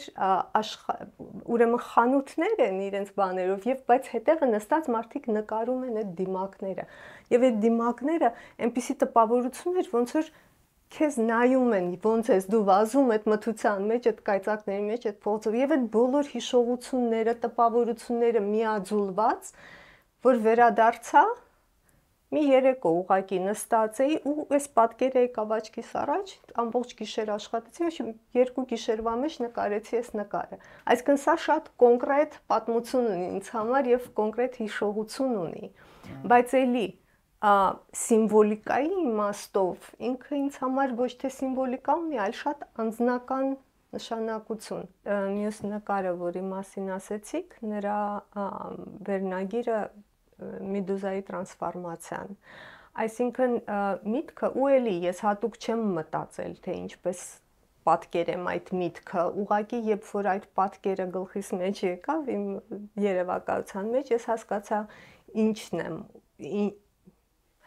ուրեմն խանութներ են իրենց բաներով եւ բայց հետևը նստած մարդիկ նկարում են այդ դիմակները։ Եվ այդ դիմակները այնպիսի տպավորություն էր, ոնց որ քեզ նայում են, ոնց ես դու վազում այդ մթության մեջ, այդ կայծակների մեջ, այդ փողոցով եւ այդ բոլոր հիշողությունները, տպավորությունները միաձուլված, որ վերադարձա մի երեկո ուղակի նստած էի ու այս պատկերը եկավ աչքիս առաջ, ամբողջ գիշեր աշխատեցի, 2 գիշերվա մեջ նկարեցի այս նկարը։ Այսինքն սա շատ կոնկրետ պատմություն ունի ինձ համար եւ կոնկրետ հիշողություն ունի։ Բայց էլի սիմվոլիկայի իմաստով ինքը ինձ համար ոչ թե սիմվոլիկա ունի, այլ շատ անձնական նշանակություն։ Մյուս նկարը, որի մասին ասեցիք, նրա վերնագիրը Մեդուզայի տրանսֆորմացիան։ Այսինքն միտքը ու էլի ես հատուկ չեմ մտածել, թե ինչպես պատկերեմ այդ միտքը, ուղղակի երբ որ այդ պատկերը գլխիս մեջ եկավ իմ երևակայության մեջ, ես հասկացա ինչն եմ,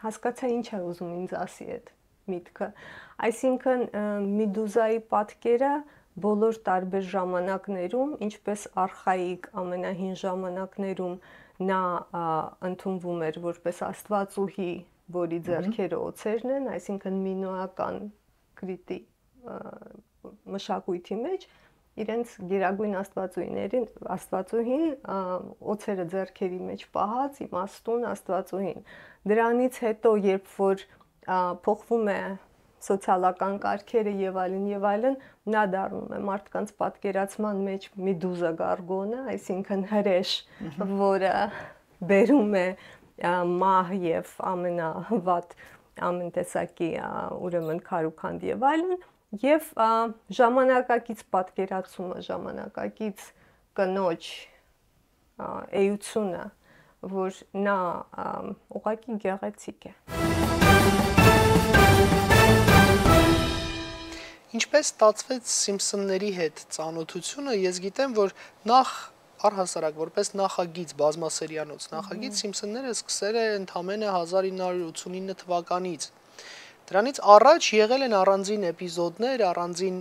հասկացա ինչ է ուզում ինձ ասի այդ միտքը։ Այսինքն Մեդուզայի պատկերը բոլոր տարբեր ժամանակներում, ինչպես արխայիկ ամենահին ժամանակներում նա ընդունվում էր որպես աստվածուհի, որի ձեռքերը օձերն են, այսինքն մինոական կրիտի մշակույթի մեջ իրենց գերագույն աստվածուհին օձերը ձեռքերի մեջ պահած իմաստուն աստվածուհին։ Դրանից հետո, երբ որ փոխվում է սոցիալական կարգերը եւ այլն, նա դառնում է մարդկանց պատկերացման մեջ Մեդուզա Գարգոնը, այսինքն հրեշ, որը բերում է մահ եւ ամենավատ ամեն տեսակի ուրեմն քարուքանդ եւ այլն, եւ ժամանակակից պատկերացումը, ժամանակակից կնոջ էությունը, որ նա ուղղակի գեղեցիկ է։ Ինչպես ստացվեց Սիմփսոնների հետ ծանոթությունը, ես գիտեմ, որ նախ առհասարակ որպես նախագիծ, բազմասերիանոց նախագիծ Սիմփսոնները սկսել է ընդամենը 1989 թվականից։ Դրանից առաջ եղել են առանձին էպիզոդներ, առանձին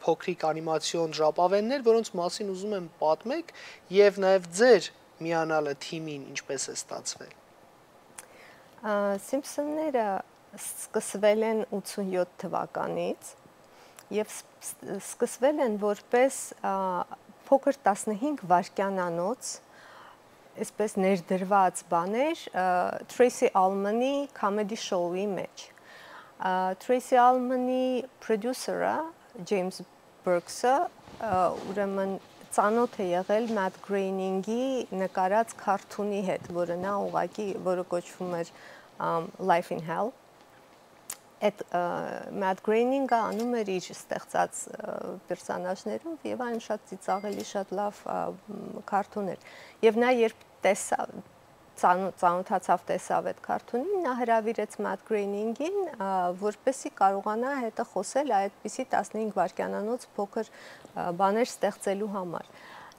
փոքրիկ անիմացիոն ժապավեններ, որոնց մասին ուզում եմ պատմեք եւ նաեւ ձեր միանալը թիմին ինչպես է ստացվել։ Սիմփսոնները սկսվել են 87 թվականից եւ սկսվել են որպես փոքր 15 վայրկյանանոց այսպես ներդրված բաներ Tracy Ullman-ի comedy show-ի մեջ։ Tracy Ullman-ի producer-ը James Brooks-ը ուրեմն ծանոթ է եղել Matt Groening-ի նկարած քարթունի հետ, որը նա ուղղակի, որը կոչվում էր Life in Hell։ Այդ Matt Groening-ը անում էր իր ստեղծած պերսոնաժներով եւ այն շատ ծիծաղելի, շատ լավ քարթուն էր։ Եվ նա երբ տեսավ ծանոթացավ տեսավ այդ քարթունին, նա հրավիրեց Matt Groening-ին, որպեսզի կարողանա հետը խոսել այդպիսի 15 վայրկյանանոց փոքր բաներ ստեղծելու համար։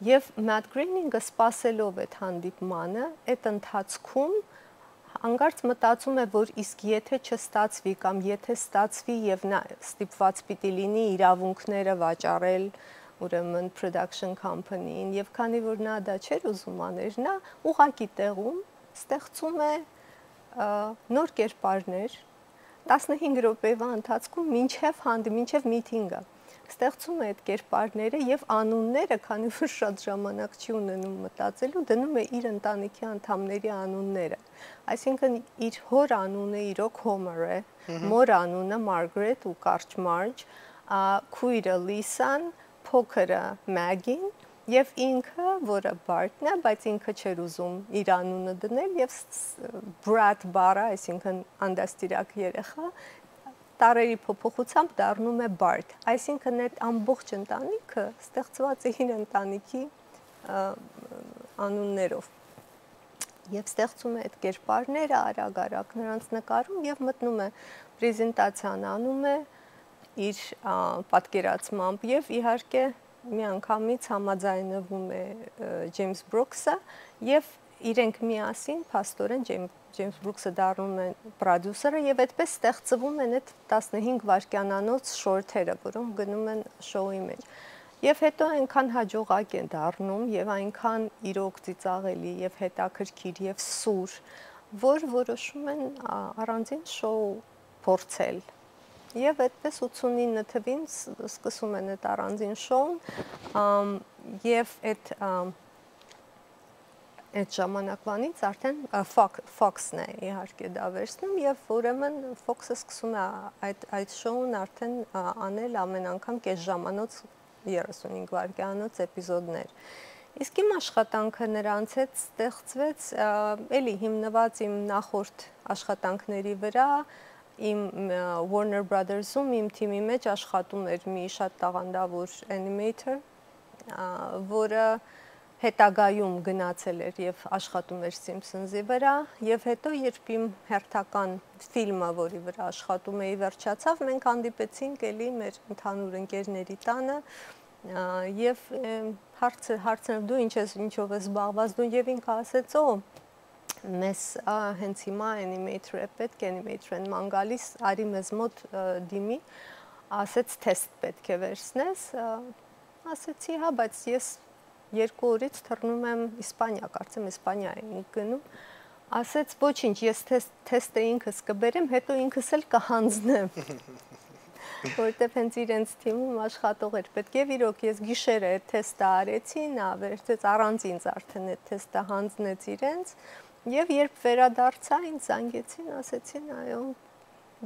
Եվ Matt Groening-ը սպասելով այդ հանդիպմանը, այդ ընթացքում հանկարծ մտածում է, որ իսկ եթե չստացվի կամ եթե ստացվի եւ նա ստիպված պիտի լինի իրավունքները վաճառել ուրեմն production company-ին եւ քանի որ նա դա չէր ուզում անել, նա ուղակի տեղում ստեղծում է նոր կերպարներ 15 րոպեվա ընթացքում մինչև միտինգը ստեղծում է այդ կերպարները եւ անունները, քանի որ շատ ժամանակ չի ունենում մտածելու, դնում է իր ընտանիքի անդամների անունները։ Այսինքն իր հոր անունը իրոք Homer է, մոր անունը Margaret ու կարճ Marge, քույրը Lisa-ն, փոքրը Maggie-ն եւ ինքը, որը Bart-ն է, բայց ինքը չէր ուզում իր անունը դնել եւ Brat բառը, այսինքն անդաստիրակ երեխա, տարերի փոփոխությամբ դառնում է Bart։ Այսինքն այդ ամբողջ ընտանիքը ստեղծված է իր ընտանիքի անուններով։ Եվ ստեղծում է այդ կերպարները արագ-արագ նրանց նկարում եւ մտնում է պրեզենտացիան անում է իր պատկերացմամբ եւ իհարկե միանգամից համաձայնվում է James Brooks-ը եւ իրենք միասին փաստորեն James Brooks-ը դառնում է պրոդյուսերը եւ այդպես ստեղծվում են այդ 15 վայրկյանանոց շորթերը, որոնք գնում են շոուի մեջ։ Եվ հետո այնքան հաջողակ են դառնում եւ այնքան իրոք ծիծաղելի եւ հետաքրքիր եւ սուր, որ որոշում են առանձին շոու փորձել։ Եվ այդպես 89 թվին սկսում են այդ առանձին շոուն եւ այդ ժամանակվանից արդեն Fox-ն է իհարկե դա վերցնում եւ ուրեմն Fox-ը սկսում է այդ շոուն արդեն անել ամեն անգամ կես ժամանոց 35 վայրկյանոց էպիզոդներ։ Իսկ իմ աշխատանքը նրանց հետ ստեղծվեց էլի հիմնված իմ նախորդ աշխատանքների վրա, իմ Warner Brothers-ում իմ թիմի մեջ աշխատում էր մի շատ տաղանդավոր animator, որը հետագայում գնացել էր եւ աշխատում էր Simpsons-ի վրա, եւ հետո երբ իմ հերթական ֆիլմը, որի վրա աշխատում էի, վերջացավ, մենք հանդիպեցինք էլի մեր ընդհանուր ընկերների տանը եւ հարցրել դու ինչով ես զբաղված դու եւ ինքը ասեց մեզ հենց հիմա animator է պետք, animator են ման գալիս, արի մեզ մոտ դիմի, ասեց թեստ պետք է վերցնես, ասեցի հա, բայց ես 2 օրից թռնում եմ Իսպանիա, կարծեմ Իսպանիա եմ գնում, ասեց ոչինչ, ես թեստը ինքս կբերեմ, հետո ինքս էլ կհանձնեմ, որտեվ հենց իրենց թիմում աշխատող էր պետք է իրոք ես գիշերը այդ թեստը արեցի, նա վերցրեց առանց ինձ արդեն այդ թեստը հանձնեց իրենց Եվ երբ վերադարձա ինձ զանգեցին, ասեցին, այո,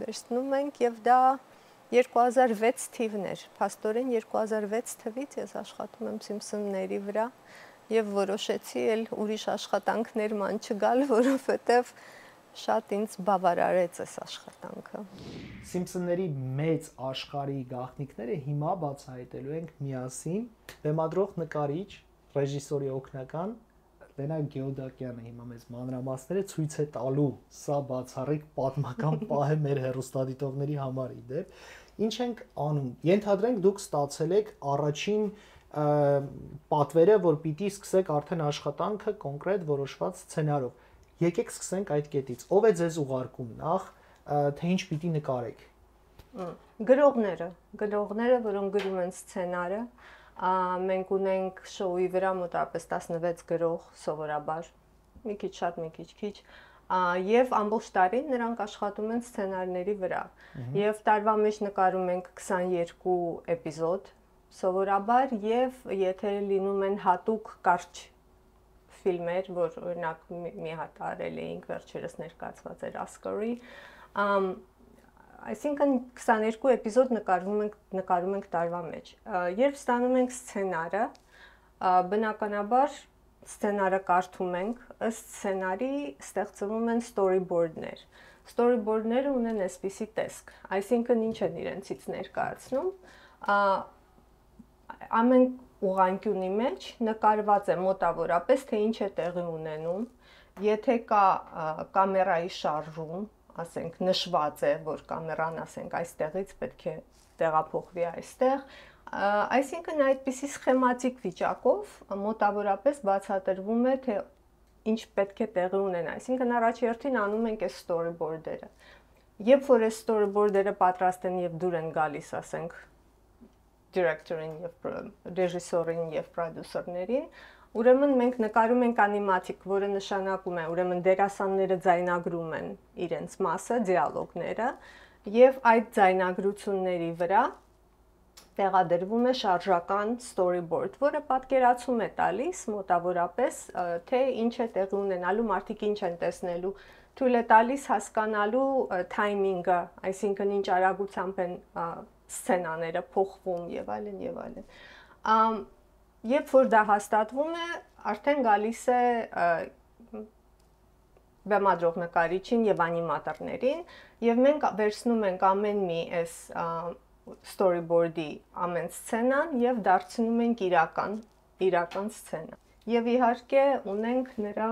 վերցնում ենք եւ դա 2006 թիվն էր։ Փաստորեն 2006 թվից ես աշխատում եմ Simpson-ների վրա եւ որոշեցի էլ ուրիշ աշխատանքներ ման չգալ, որովհետեւ շատ ինձ բավարարեց այս աշխատանքը։ Simpson-ների մեծ աշխարհի գաղտնիքները հիմա բացահայտելու ենք միասին բեմադրող նկարիչ, ռեժիսորի օգնական Լենա Գեոդակյանը հիմա մեզ մանրամասները ցույց է տալու, սա բացառիկ պատմական պահ է մեր հեռուստադիտողների համար իդեպ։ Ինչ ենք անում։ Ենթադրենք դուք ստացել եք առաջին պատվերը, որ պիտի սկսեք արդեն աշխատանքը կոնկրետ որոշված սցենարով։ Եկեք սկսենք այդ կետից։ Ով է ձեզ ուղարկում նախ, թե ինչ պիտի նկարեք։ Գրողները, որոնք գրում են սցենարը, մենք ունենք շոուի վրա մոտավորապես 16 գրող սովորաբար, մի քիչ շատ, մի քիչ քիչ, եւ ամբողջ տարին նրանք աշխատում են սցենարների վրա։ Եվ տարվա մեջ նկարում ենք 22 էպիզոդ սովորաբար եւ եթե լինում են հատուկ կարճ ֆիլմեր, որ օրինակ մի հատ արել էինք, վերջերս ներկայացված էր Oscar-ի, այսինքն 22 էպիզոդ նկարում ենք տարվա մեջ։ Երբ ստանում ենք սցենարը, բնականաբար սցենարը կարդում ենք, ըստ սցենարի ստեղծվում են storyboard-ներ։ Storyboard-ները ունեն այսպիսի տեսք, այսինքն ինչ են իրենցից ներկայացնում, ամեն ուղղանկյունի մեջ նկարված է մոտավորապես, թե ինչ է տեղի ունենում, եթե կա կամերայի շարժում, ասենք նշված է, որ կամերան, ասենք, այստեղից պետք է տեղափոխվի այստեղ, այսինքն այդպիսի սխեմատիկ վիճակով մոտավորապես բացատրվում է, թե ինչ պետք է տեղի ունենա, այսինքն առաջերտին անում ենք այս storyboard-երը։ Երբ որ այս storyboard-երը պատրաստ են եւ դուր են գալիս, ասենք, director-ին եւ ռեժիսորին եւ պրոդյուսերներին, ուրեմն մենք նկարում ենք անիմատիկ, որը նշանակում է, ուրեմն դերասանները ձայնագրում են իրենց մասը, դիալոգները, եւ այդ ձայնագրությունների վրա տեղադրվում է շարժական storyboard, որը պատկերացում է տալիս մոտավորապես, թե ինչ է տեղի ունենալու, մարդիկ ինչ են տեսնելու, թույլ է տալիս հասկանալու թայմինգը, այսինքն ինչ արագությամբ են սցենաները փոխվում եւ այլն եւ այլն։ Երբ որ դա հաստատվում է, արդեն գալիս է բեմադրող նկարիչին եւ անիմատորներին եւ մենք վերցնում ենք ամեն մի այս storyboard-ի ամեն սցենան եւ դարձնում ենք իրական սցենա։ Եվ իհարկե ունենք նրա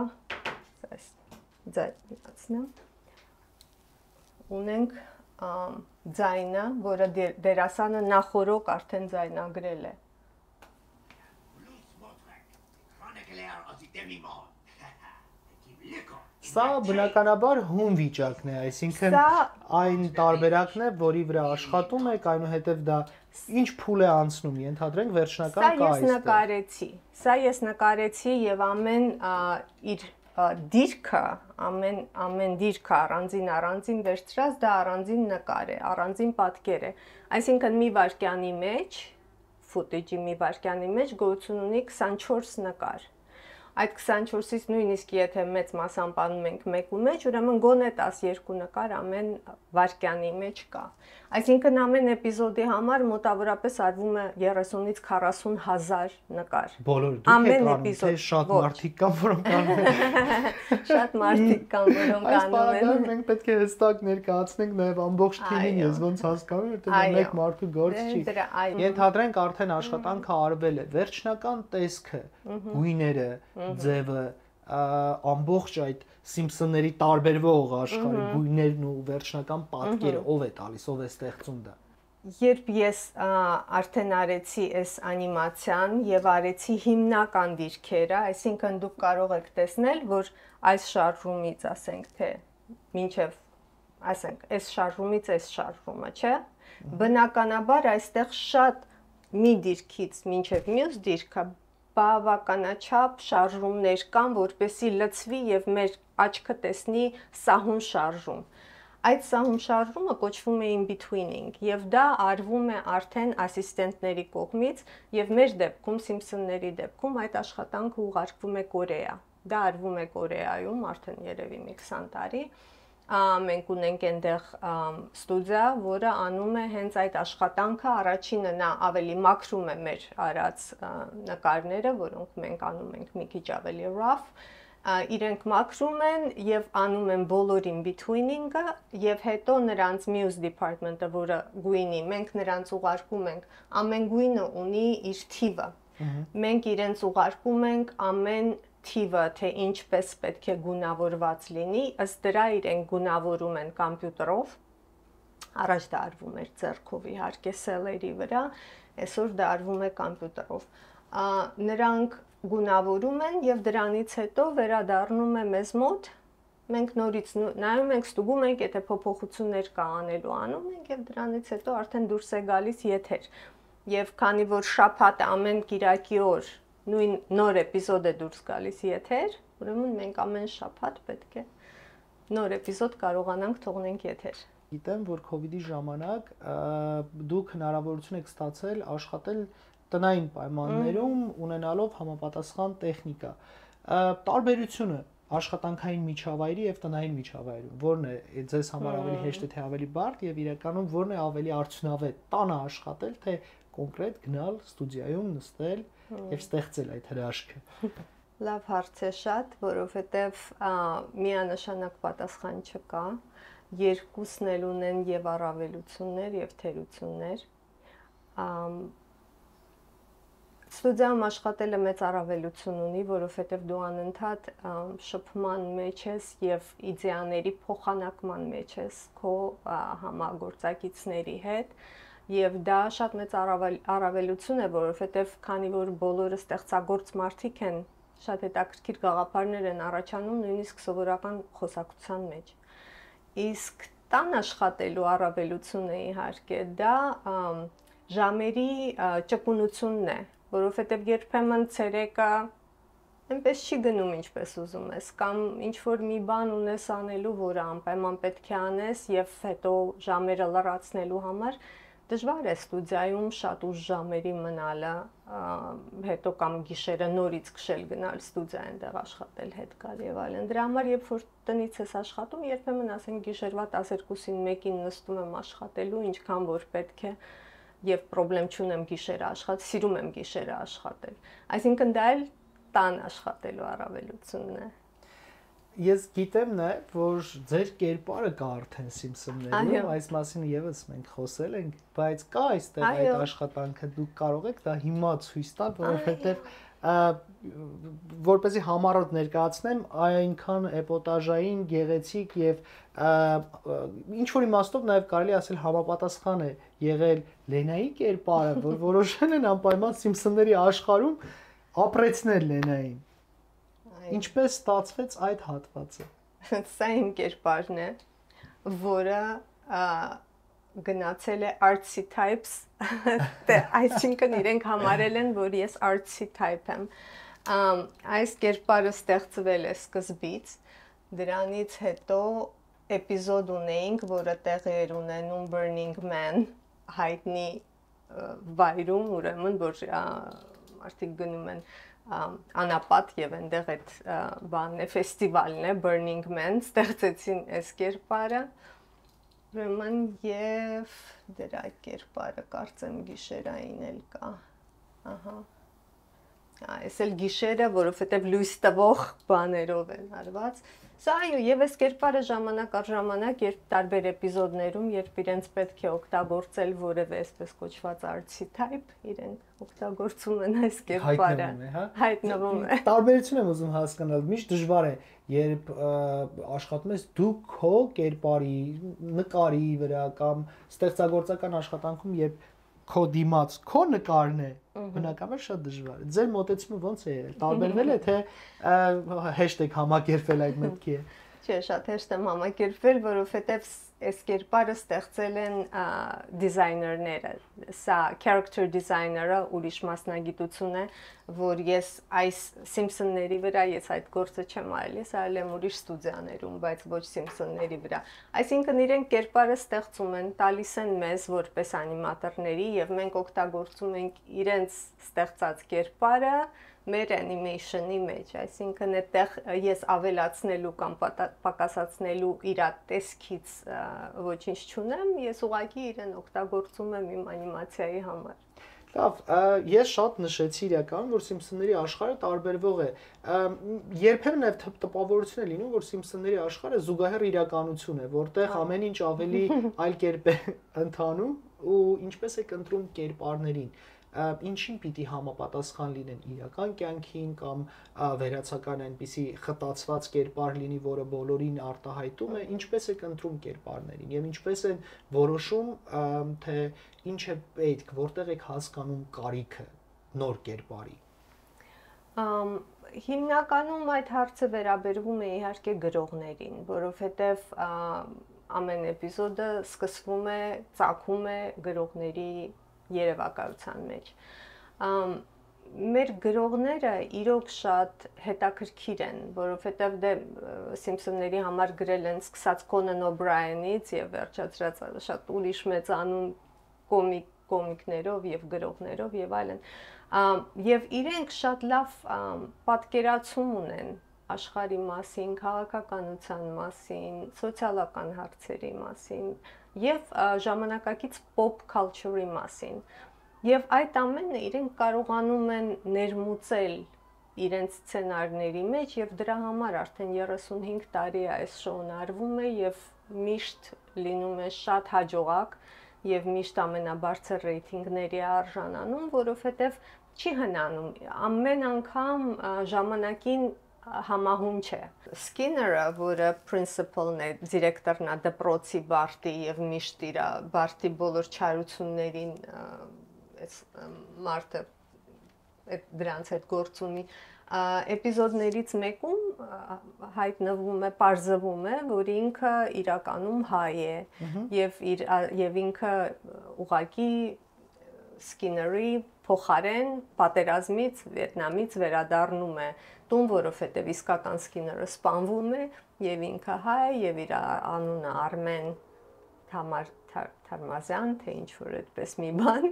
ունենք ձայնը, որը դերասանը նախորոք արդեն ձայնագրել է։ Սա բնականաբար հում վիճակն է, այսինքն այն տարբերակն է, որի վրա աշխատում եք, այնուհետև դա ինչ փուլ է անցնում, ենթադրենք վերջնական կա այստեղ։ Սա ես նկարեցի եւ ամեն իր դիրքը, ամեն դիրքը առանձին վերցրած դա առանձին նկար է, առանձին պատկեր է։ Այսինքն մի վայրկյանի մեջ, ֆուտեջի մի վայրկյանի մեջ գոյություն ունի 24 նկար։ Այդ 24-ից նույնիսկ եթե մեծ մասամբ անում ենք մեկու մեջ, ուրեմն գոնե 12 նկար ամեն վայրկյանի մեջ կա։ Այսինքն ամեն էպիզոդի համար մոտավորապես արվում է 30-ից 40 հազար նկար։ Բոլոր դուք եք անում, թե շատ մարդիկ կան, որոնք անում են։ Շատ մարդիկ կան, որոնք անում են։ Այս բառը մենք պետք է հստակ ներկայացնենք նաև ամբողջ թիմին, ես ոնց հասկանում եմ, որտեղ մեկ մարդու գործ չի։ Ենթադրենք արդեն աշխատանքը արվել է, վերջնական տեսքը, գույները, ձևը, ամբողջ այդ Սիմփսոնների տարբերվող աշխարհի գույներն ու վերջնական պատկերը ով է տալիս, ով է ստեղծում դա։ Երբ ես արդեն արեցի այս անիմացիան եւ արեցի հիմնական դիրքերը, այսինքն դուք կարող եք տեսնել, որ այս շարժումից, ասենք, թե մինչեւ, ասենք, այս շարժումից այս շարժումը, չէ՞։ Բնականաբար այստեղ շատ մի դիրքից մինչեւ մյուս դիրքը բավականաչափ շարժումներ կան, որպեսզի լցվի եւ մեր աչքը տեսնի սահուն շարժում։ Այդ սահուն շարժումը կոչվում է in-betweening եւ դա արվում է արդեն ասիստենտների կողմից եւ մեր դեպքում Սիմփսոնների դեպքում այդ աշխատանքը ուղարկվում է Կորեա։ Դա արվում է Կորեայում արդեն երևի մի 20 տարի։ Մենք ունենք այնտեղ ստուդիա, որը անում է հենց այդ աշխատանքը, առաջինը նա ավելի մաքրում է մեր արած նկարները, որոնք մենք անում ենք մի քիչ ավելի rough, իրենք մաքրում են եւ անում են բոլոր in betweening-ը եւ հետո նրանց muse department-ը, որը գույնի, մենք նրանց ուղարկում ենք, ամեն գույնը ունի իր թիվը։ Մենք իրենց ուղարկում ենք ամեն թիվը, թե ինչպես պետք է գունավորված լինի, ըստ դրա իրենք գունավորում են կոմպյուտերով, առաջ դա արվում էր ձեռքով իհարկե սելերի վրա, այսօր դա արվում է կոմպյուտերով։ Նրանք գունավորում են եւ դրանից հետո վերադառնում է մեզ մոտ, մենք նորից նայում ենք, ստուգում ենք, եթե փոփոխություններ կա անելու անում ենք եւ դրանից հետո արդեն դուրս է գալիս եթեր։ Եվ քանի որ շաբաթ ամեն կիրակի օր նույն նոր էպիզոդ է դուրս գալիս եթեր, ուրեմն մենք ամեն շաբաթ պետք է նոր էպիզոդ կարողանանք թողնենք եթեր։ Գիտեմ, որ COVID-ի ժամանակ դուք հնարավորություն եք ստացել աշխատել տնային պայմաններում, ունենալով համապատասխան տեխնիկա։ տարբերությունը աշխատանքային միջավայրի եւ տնային միջավայրում, որն է ձեզ համար ավելի հեշտ է թե ավելի բարդ եւ իրականում որն է ավելի արդյունավետ՝ տանը աշխատել, թե կոնկրետ գնալ ստուդիայում նստել եւ ստեղծել այդ հրաշքը։ Լավ հարց է շատ, որովհետեւ միանշանակ պատասխան չկա։ Երկուսն էլ ունեն եւ առավելություններ եւ թերություններ։ Ստուդիայում աշխատելը մեծ առավելություն ունի, որովհետև դու անընդհատ շփման մեջ ես եւ իդեաների փոխանակման մեջ ես քո համագործակիցների հետ եւ դա շատ մեծ առավելություն է, որովհետև քանի որ բոլորը ստեղծագործ մարդիկ են, շատ հետաքրքիր գաղափարներ են առաջանում նույնիսկ սովորական խոսակցության մեջ։ Իսկ տան աշխատելու առավելությունը իհարկե դա ժամերի ճկունությունն է, որովհետև երբեմն ցերեկը այնպես չի գնում ինչպես ուզում ես, կամ ինչ որ մի բան ունես անելու, որը անպայման պետք է անես եւ հետո ժամերը լրացնելու համար դժվար է ստուդիայում շատ ուշ ժամերի մնալը, հետո կամ գիշերը նորից քշել գնալ ստուդիա այնտեղ աշխատել, հետ գալ եւ այլն։ Դրա համար երբ որ տնից ես աշխատում, երբեմն ասենք գիշերվա 12-ին 1-ին նստում եմ աշխատելու, ինչքան որ պետք է եւ պրոբլեմ չունեմ գիշերը աշխատել, սիրում եմ գիշերը աշխատել։ Այսինքն դա էլ տան աշխատելու առավելությունն է։ Ես գիտեմ նաեւ, որ ձեր կերպարը կա արդեն Simpson-ներում, այս մասին եւս մենք խոսել ենք, բայց կա այստեղ այդ աշխատանքը, դուք կարող եք դա հիմա ցույց տալ, որովհետեւ որպեսզի համառոտ ներկայացնեմ, այնքան էպոտաժային, գեղեցիկ եւ ինչ որ իմաստով նաեւ կարելի ասել համապատասխան է եղել Լենայի կերպարը, որ որոշել են անպայման Simpson-ների աշխարհում ապրեցնել Լենային։ Ինչպես ստացվեց այդ հատվածը։ Սա իմ կերպարն է, որը գնացել է artsy types, այսինքն իրենք համարել են, որ ես artsy type եմ։ Այս կերպարը ստեղծվել է սկզբից, դրանից հետո էպիզոդ ունեինք, որը տեղի էր ունենում Burning Man հայտնի վայրում, ուրեմն որ մարդիկ գնում են անապատ եւ այնտեղ այդ բանն է, ֆեստիվալն է, Burning Man, ստեղծեցին այս կերպարը։ Ուրեմն եւ դրա կերպարը կարծեմ գիշերային էլ կա։ Ահա։ Այս էլ գիշերը, որովհետեւ լույս տվող բաներով են արված։ Սա այո, եւ այս կերպարը ժամանակ առ ժամանակ, երբ տարբեր էպիզոդներում, երբ իրենց պետք է օգտագործել որևէ այսպես կոչված artsy type, իրենք օգտագործում են այս կերպարը։ Հայտնվում է։ Տարբերություն եմ ուզում հասկանալ, միշտ դժվար է, երբ աշխատում ես դու քո կերպարի, նկարի վրա կամ ստեղծագործական աշխատանքում, երբ քո դիմաց քո նկարն է, բնականաբար շատ դժվար է։ Ձեր մոտեցումը ոնց է եղել։ Տարբերվել է թե հեշտ եք համակերպել այդ մտքի։ Չէ, շատ հեշտ եմ համակերպվել, որովհետև այս կերպարը ստեղծել են դիզայներները։ Սա character designer-ը ուրիշ մասնագիտություն է, որ ես այս Simpson-ների վրա ես այդ գործը չեմ արել, ես արել եմ ուրիշ ստուդիաներում, բայց ոչ Simpson-ների վրա։ Այսինքն իրենք կերպարը ստեղծում են, տալիս են մեզ որպես անիմատորների եւ մենք օգտագործում ենք իրենց ստեղծած կերպարը մեր animation-ի մեջ, այսինքն այդտեղ ես ավելացնելու կամ պակասացնելու իր տեսքից ոչինչ չունեմ, ես ուղղակի իրեն օգտագործում եմ իմ անիմացիայի համար։ Լավ, ես շատ նշեցի իրական, որ Simpson-ների աշխարհը տարբերվող է։ Երբեմն նաև տպավորություն է լինում, որ Simpson-ների աշխարհը զուգահեռ իրականություն է, որտեղ ամեն ինչ ավելի այլ կերպ է ընթանում ու ինչպես է կընտրում կերպարներին։ Ինչին պիտի համապատասխան լինեն իրական կյանքին կամ վերացական այնպիսի խտացված կերպար լինի, որը բոլորին արտահայտում է, ինչպես է կընտրում կերպարներին եւ ինչպես են որոշում, թե ինչ է պետք, որտեղ եք հասկանում կարիքը նոր կերպարի։ Հիմնականում այդ հարցը վերաբերվում է իհարկե գրողներին, որովհետեւ ամեն էպիզոդը սկսվում է, ծագում է գրողների երևակայության մեջ։ Մեր գրողները իրոք շատ հետաքրքիր են, որովհետև դե Simpson-ների համար գրել են սկսած Conan O'Brien-ից եւ վերջացրած շատ ուրիշ մեծանուն կոմիկ կոմիկներով եւ գրողներով եւ այլն, եւ իրենք շատ լավ պատկերացում ունեն աշխարհի մասին, քաղաքականության մասին, սոցիալական հարցերի մասին եւ ժամանակակից pop culture-ի մասին։ Եվ այդ ամենը իրենք կարողանում են ներմուծել իրենց սցենարների մեջ եւ դրա համար արդեն 35 տարի այս շոուն արվում է եւ միշտ լինում է շատ հաջողակ եւ միշտ ամենաբարձր ռեյթինգների արժանանում, որովհետեւ չի հնանում ամեն անգամ ժամանակին համահունչ է։ Սկիները, որը principal-ն է, դիրեկտորն է դպրոցի Բարտի եւ միշտ իր Բարտի բոլոր չարություններին այս մարդը այդ դրանց հետ գործ ունի, էպիզոդներից մեկում հայտնվում է, պարզվում է, որ ինքը իրականում հայ է եւ ինքը ուղղակի Սկիների փոխարեն պատերազմից Վիետնամից վերադառնում է տուն, որովհետեւ իսկական Սկիները սպանվում է եւ ինքը հայ եւ իր անունը Արմեն Թարմազյան, թե ինչ որ այդպես մի բան,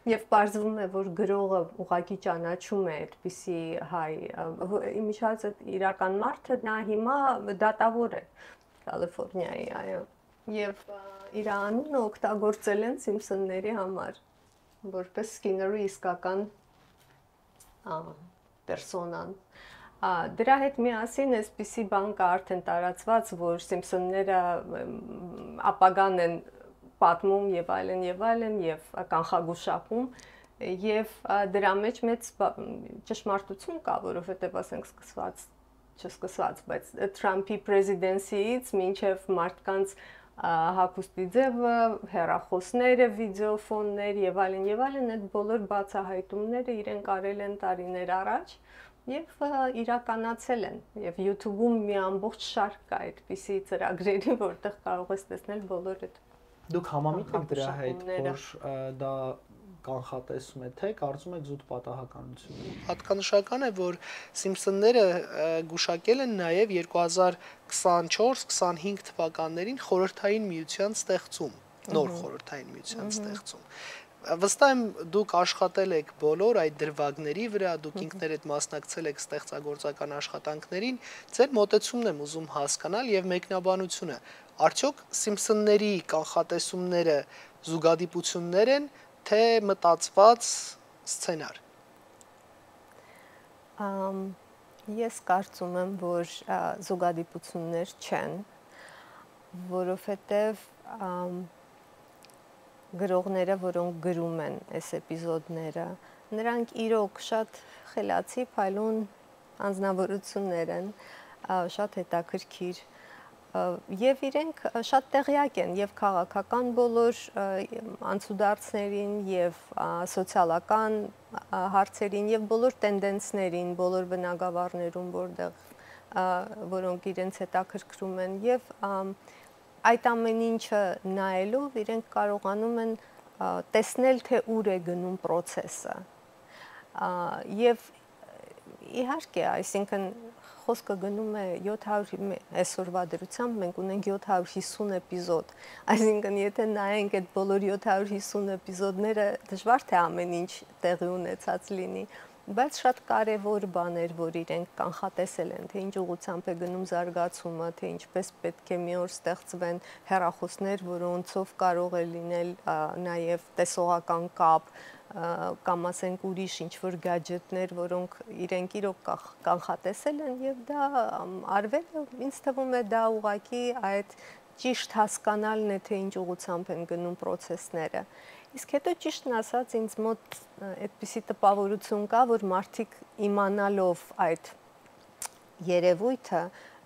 եւ պարզվում է, որ գրողը ուղղակի ճանաչում է այդպիսի հայ, իմիջիայլոց իրական մարդը նա հիմա դատավոր է Կալիֆոռնիայի, այո, եւ իր անունը օգտագործել են Սիմփսոնների համար, որպես Սկիների իսկական պերսոնան։ Դրա հետ միասին այսպիսի բան կա արդեն տարածված, որ Սիմփսոնները ապագան են պատմում եւ այլն եւ կանխագուշակում եւ դրա մեջ մեծ ճշմարտություն կա, որովհետեւ ասենք չսկսված, բայց Թրամփի պրեզիդենցիից մինչեւ մարդկանց հագուստի ձևը, հեռախոսները, վիդեոֆոններ եւ այլն այդ բոլոր բացահայտումները իրենք արել են տարիներ առաջ եւ իրականացել են եւ YouTube-ում մի ամբողջ շարք կա այդպիսի ծրագրերի, որտեղ կարող ես տեսնել բոլոր այդ Դուք համամիտ եք դրա հետ, որ դա կանխատեսում է, թե կարծում եք զուտ պատահականություն։ Հատկանշական է, որ Սիմփսոնները գուշակել են նաև 2024-25 թվականներին խորհրդային միության ստեղծում, նոր խորհրդային միության ստեղծում։ Վստահ եմ դուք աշխատել եք բոլոր այդ դրվագների վրա, դուք ինքներդ մասնակցել եք ստեղծագործական աշխատանքներին, ձեր մոտեցումն եմ ուզում հասկանալ եւ մեկնաբանությունը։ Արդյոք Սիմփսոնների կանխատեսումները զուգադիպություններ են, թե մտածված սցենար։ Ես կարծում եմ, որ զուգադիպություններ չեն, որովհետև գրողները, որոնք գրում են այս էպիզոդները, նրանք իրոք շատ խելացի, փայլուն անձնավորություններ են, շատ հետաքրքիր եւ իրենք շատ տեղյակ են եւ քաղաքական բոլոր անցուդարձներին եւ սոցիալական հարցերին եւ բոլոր տենդենսներին, բոլոր բնագավառներում, որոնք իրենց հետաքրքրում են եւ այդ ամեն ինչը նայելով իրենք կարողանում են տեսնել, թե ուր է գնում process-ը։ Եվ իհարկե, այսինքն խոսքը գնում է 700 այսօրվա դրությամբ մենք ունենք 750 էպիզոդ, այսինքն եթե նայենք այդ բոլոր 750 էպիզոդները, դժվար թե ամեն ինչ տեղի ունեցած լինի, բայց շատ կարևոր բաներ, որ իրենք կանխատեսել են, թե ինչ ուղղությամբ է գնում զարգացումը, թե ինչպես պետք է մի օր ստեղծվեն հեռախոսներ, որոնցով կարող է լինել նաև տեսողական կապ, կամ ասենք ուրիշ ինչ-որ գadgetներ, որոնք իրենք իրոք կանխատեսել են եւ դա արվել է, ինձ թվում է դա ուղղակի այդ ճիշտ հասկանալն է, թե ինչ ուղղությամբ են գնում process-ները։ Իսկ հետո ճիշտն ասած ինձ մոտ այդպիսի տպավորություն կա, որ մարդիկ իմանալով այդ երևույթը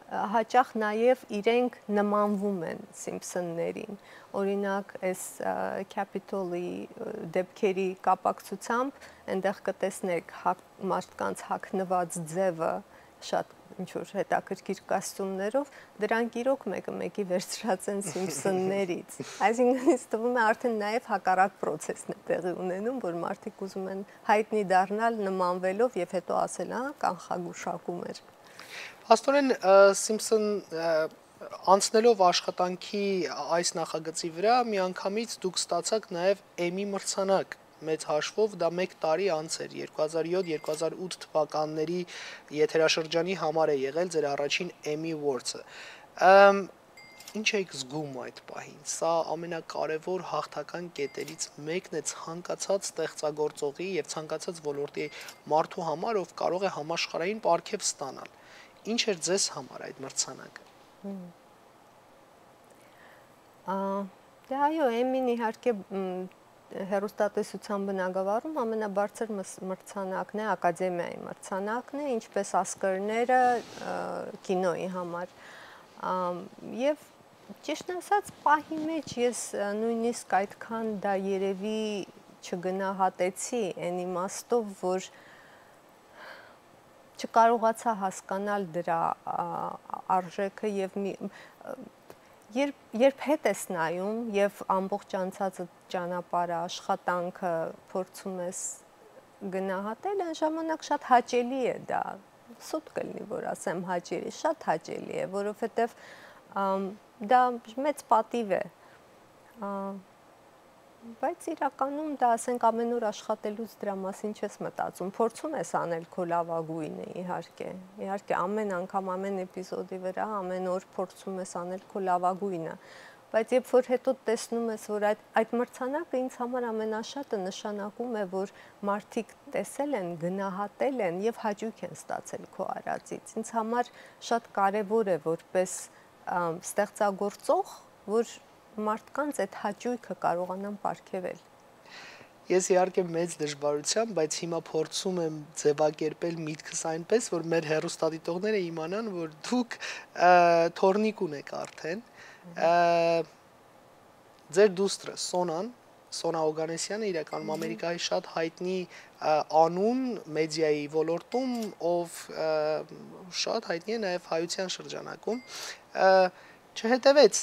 հաճախ նաև իրենք նմանվում են Սիմփսոններին։ Օրինակ, այս Capitol-ի դեպքերի կապակցությամբ այնտեղ կտեսնեք մարդկանց հագնված ձևը շատ ինչ-որ հետաքրքիր կոստյումներով, դրանք իրոք մեկը-մեկի վերցրած են Սիմփսոններից։ Այսինքն ինձ թվում է արդեն նաև հակառակ process-ն է տեղի ունենում, որ մարդիկ ուզում են հայտնի դառնալ նմանվելով եւ հետո ասել, կանխագուշակում էր։ Աստորեն Սիմփսոն Անցնելով աշխատանքի այս նախագծի վրա միանգամից դուք ստացաք նաև Emmy մրցանակ մեծ հաշվով, դա 1 տարի անց էր, 2007-2008 թվականների եթերաշրջանի համար է եղել ձեր առաջին Emmy Awards-ը։ Ինչ եք զգում այդ պահին։ Սա ամենակարևոր հաղթական կետերից մեկն է ցանկացած ստեղծագործողի եւ ցանկացած ոլորտի մարդու համար, ով կարող է համաշխարհային պարգև ստանալ։ Ինչ էր ձեզ համար այդ մրցանակը։ Դե այո, Emmy-ն իհարկե հեռուստատեսության բնագավառում ամենաբարձր մրցանակն է, ակադեմիայի մրցանակն է, ինչպես Oscar-ները կինոյի համար։ Եվ ճիշտ ասած, պահի մեջ ես նույնիսկ այդքան դա երևի չգնահատեցի այն իմաստով, որ չկարողացա հասկանալ դրա արժեքը եւ երբ հետ ես նայում եւ ամբողջ անցած ճանապարհը, աշխատանքը փորձում ես գնահատել, այն ժամանակ շատ հաճելի է դա։ Սուտ կլինի, որ ասեմ հաճելի, շատ հաճելի է, որովհետեւ դա մեծ պատիվ է։ Բայց իրականում դա ասենք ամեն օր աշխատելուց դրա մասին չես մտածում, փորձում ես անել քո լավագույնը, իհարկե։ Իհարկե ամեն անգամ ամեն էպիզոդի վրա ամեն օր փորձում ես անել քո լավագույնը, բայց երբ որ հետո տեսնում ես, որ այդ մրցանակը ինձ համար ամենաշատը նշանակում է, որ մարդիկ տեսել են, գնահատել են եւ հաճույք են ստացել քո արածից։ Ինձ համար շատ կարեւոր է որպես ստեղծագործող, որ մարդկանց այդ հաճույքը կարողանան պարգևել։ Ես իհարկե մեծ դժվարությամբ, բայց հիմա փորձում եմ ձևակերպել միտքս այնպես, որ մեր հեռուստադիտողները իմանան, որ դուք թորնիկ ունեք արդեն։ Ձեր դուստրը Սոնա Օգանեսյանը իրականում Ամերիկայի շատ հայտնի անուն մեդիայի ոլորտում, ով շատ հայտնի է նաև հայության շրջանակում, չհետևեց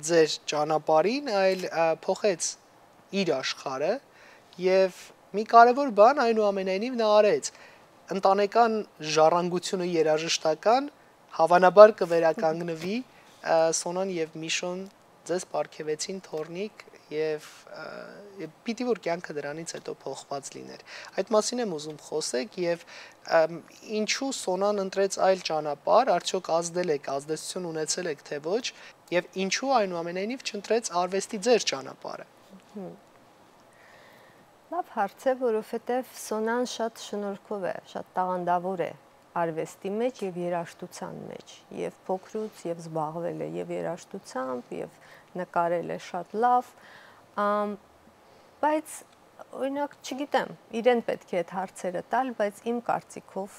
ձեր ճանապարհին, այլ փոխեց իր աշխարհը եւ մի կարևոր բան այնուամենայնիվ նա արեց ընտանեկան ժառանգությունը երաժշտական հավանաբար կվերականգնվի Սոնան եւ Միշոն ձեզ պարգևեցին թորնիկ եւ պիտի որ կյանքը դրանից հետո փոխված լիներ։ Այդ մասին եմ ուզում խոսեք եւ ինչու Սոնան ընտրեց այլ ճանապարհ, արդյոք ազդեցություն ունեցել եք թե ոչ եւ ինչու այնուամենայնիվ չընտրեց արվեստի ձեր ճանապարհը։ Լավ հարց է, որովհետեւ Սոնան շատ շնորհքով է, շատ տաղանդավոր է արվեստի մեջ եւ երաժշտության մեջ, եւ փոքրուց եւ զբաղվել է եւ երաժշտությամբ եւ նկարել է շատ լավ, բայց օրինակ չգիտեմ, իրեն պետք է այդ հարցերը տալ, բայց իմ կարծիքով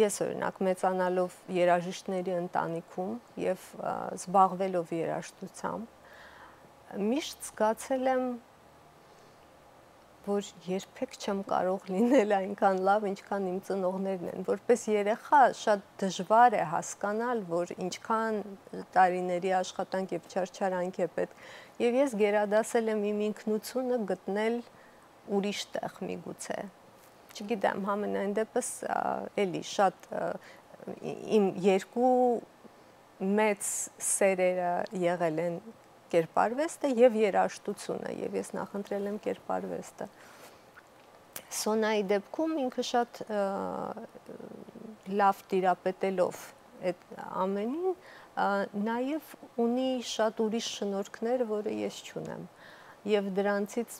ես օրինակ մեծանալով երաժիշտների ընտանիքում եւ զբաղվելով երաժշտությամբ միշտ զգացել եմ, որ երբեք չեմ կարող լինել այնքան լավ, ինչքան իմ ծնողներն են։ Որպես երեխա շատ դժվար է հասկանալ, որ ինչքան տարիների աշխատանք եւ չարչարանք է պետք։ Եվ ես գերադասել եմ իմ ինքնությունը գտնել ուրիշ տեղ միգուցե։ Չգիտեմ, համենայն դեպս էլի շատ իմ երկու մեծ սերերը եղել են կերպարվեստը եւ երաժշտությունը, եւ ես նախընտրել եմ կերպարվեստը։ Սոնայի դեպքում ինքը շատ լավ տիրապետելով այդ ամենին, նաեւ ունի շատ ուրիշ շնորհքներ, որը ես չունեմ։ Եվ դրանցից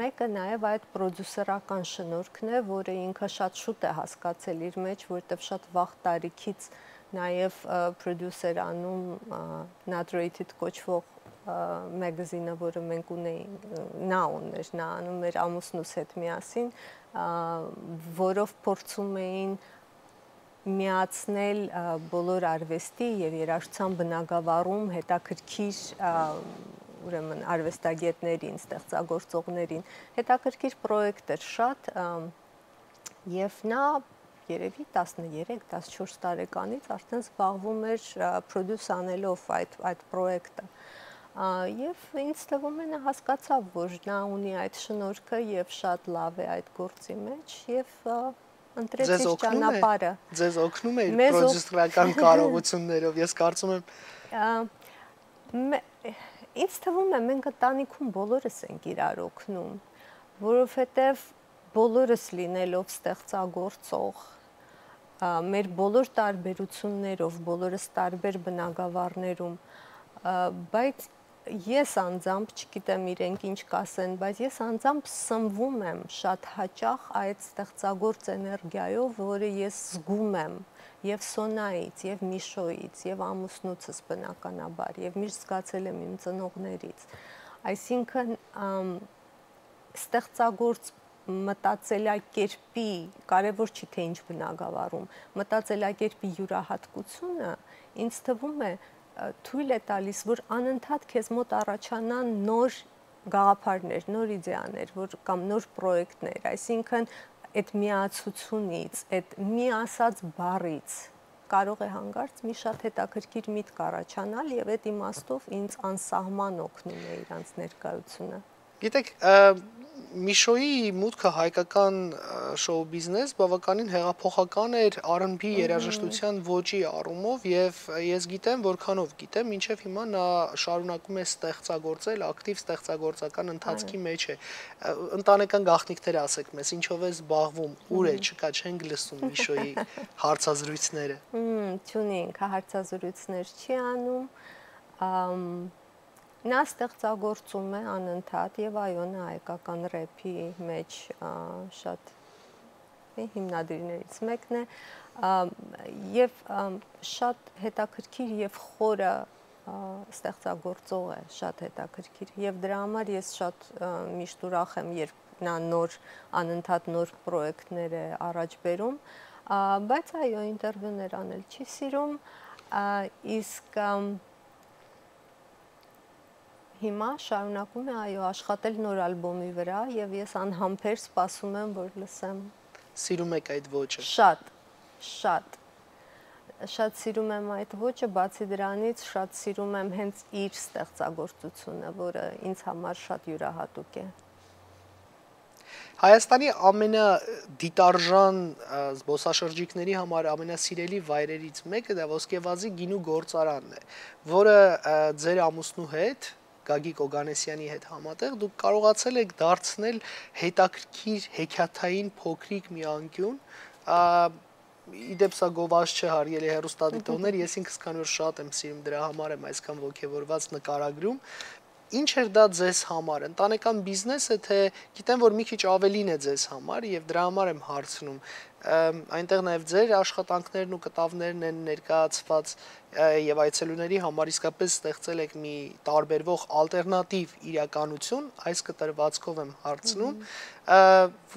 մեկը նաեւ այդ պրոդյուսերական շնորհքն է, որը ինքը շատ շուտ է հասկացել իր մեջ, որտեղ շատ վաղ տարիքից նաեւ պրոդյուսեր անում Not Rated կոչվող մագազինը, որը մենք ունեինք, նա ուներ, նա անում էր ամուսնուս հետ միասին, որով փորձում էին միացնել բոլոր արվեստի եւ երաժշտության բնագավառում հետաքրքիր ուրեմն արվեստագետներին, ստեղծագործողներին, հետաքրքիր պրոյեկտ էր շատ եւ նա երևի 13-14 տարեկանից արդեն զբաղվում էր պրոդյուս անելով այդ պրոյեկտը։ Եվ ինձ թվում է նա հասկացավ, որ նա ունի այդ շնորհքը եւ շատ լավ է այդ գործի մեջ եւ ընտրեց իր ճանապարհը։ Ձեզ օգնում է իր պրոդյուսերական կարողություններով, ես կարծում եմ ինձ թվում է մենք ընտանիքում բոլորս ենք իրար օգնում, որովհետև բոլորս լինելով ստեղծագործող, մեր բոլոր տարբերություններով, բոլորս տարբեր բնագավառներում, բայց ես անձամբ, չգիտեմ իրենք ինչ կասեն, բայց ես անձամբ սնվում եմ շատ հաճախ այդ ստեղծագործ էներգիայով, որը ես զգում եմ եւ Սոնայից, եւ Միշոյից, եւ ամուսնուցս բնականաբար, եւ միշտ զգացել եմ իմ ծնողներից։ Այսինքն ստեղծագործ մտածելակերպի, կարևոր չի թե ինչ բնագավառում, մտածելակերպի յուրահատկությունը ինձ թվում է թույլ է տալիս, որ անընդհատ քեզ մոտ առաջանան նոր գաղափարներ, նոր իդեաներ, կամ նոր պրոյեկտներ, այսինքն այդ միացությունից, այդ մի ասած բառից կարող է հանկարծ մի շատ հետաքրքիր միտք առաջանալ եւ այդ իմաստով ինձ անսահման օգնում է իրանց ներկայությունը։ Գիտեք, Միշոյի մուտքը հայկական շոու բիզնես բավականին հեղափոխական էր R&B երաժշտության ոճի առումով եւ ես գիտեմ, որքանով գիտեմ, մինչեւ հիմա նա շարունակում է ստեղծագործել, ակտիվ ստեղծագործական ընթացքի մեջ է։ Ընտանեկան գաղտնիքներ ասեք մեզ, ինչով է զբաղվում, ուր է, չկա, չենք լսում Միշոյի հարցազրույցները։ Չունենք, հարցազրույցներ չի անում։ Նա ստեղծագործում է անընդհատ եւ այո, նա հայկական ռեփի մեջ շատ հիմնադիրներից մեկն է եւ շատ հետաքրքիր եւ խորը ստեղծագործող է, շատ հետաքրքիր եւ դրա համար ես շատ միշտ ուրախ եմ, երբ նա անընդհատ նոր պրոյեկտներ է առաջ բերում, բայց այո, ինտերվյուներ անել չի սիրում, իսկ հիմա շարունակում է այո աշխատել նոր ալբոմի վրա եւ ես անհամբեր սպասում եմ, որ լսեմ։ Սիրում եք այդ ոճը։ Շատ սիրում եմ այդ ոճը, բացի դրանից շատ սիրում եմ հենց իր ստեղծագործությունը, որը ինձ համար շատ յուրահատուկ է։ Հայաստանի ամենադիտարժան զբոսաշրջիկների համար ամենասիրելի վայրերից մեկը դա Ոսկեվազի գինու գործարանն է, որը ձեր ամուսնու հետ Գագիկ Օգանեսյանի հետ համատեղ դուք կարողացել եք դարձնել հետաքրքիր հեքիաթային փոքրիկ մի անկյուն, իդեպ սա գովազ չէ հարգելի հեռուստադիտողներ, ես ինքս քանի որ շատ եմ սիրում դրա համար եմ այսքան ոգևորված նկարագրում, ինչ էր դա ձեզ համար, ընտանեկան բիզնեսը, թե գիտեմ, որ մի քիչ ավելին է ձեզ համար եւ դրա համար եմ հարցնում, այնտեղ նաեւ ձեր աշխատանքներն ու կտավներն են ներկայացված եւ այցելուների համար իսկապես ստեղծել եք մի տարբերվող ալտերնատիվ իրականություն, այս կտրվածքով եմ հարցնում,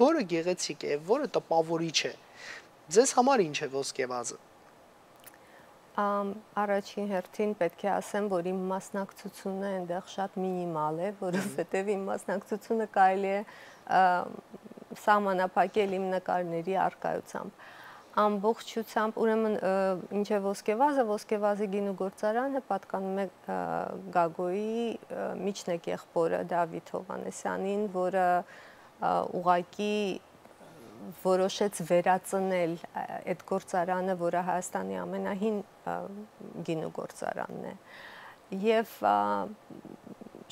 որը գեղեցիկ է, որը տպավորիչ է։ Ձեզ համար ինչ է Ոսկեվազը։ Առաջին հերթին պետք է ասեմ, որ իմ մասնակցությունը այնտեղ շատ մինիմալ է, որովհետև իմ մասնակցությունը կարելի է սահմանափակել իմ նկարների առկայությամբ։ Ամբողջությամբ, ուրեմն ինչ է Ոսկեվազը, Ոսկեվազի գինու գործարանը պատկանում է Գագոյի միջնեկ եղբորը Դավիթ Հովհաննեսյանին, որը ուղղակի որոշեց վերածնել այդ գործարանը, որը Հայաստանի ամենահին գինու գործարանն է։ Եվ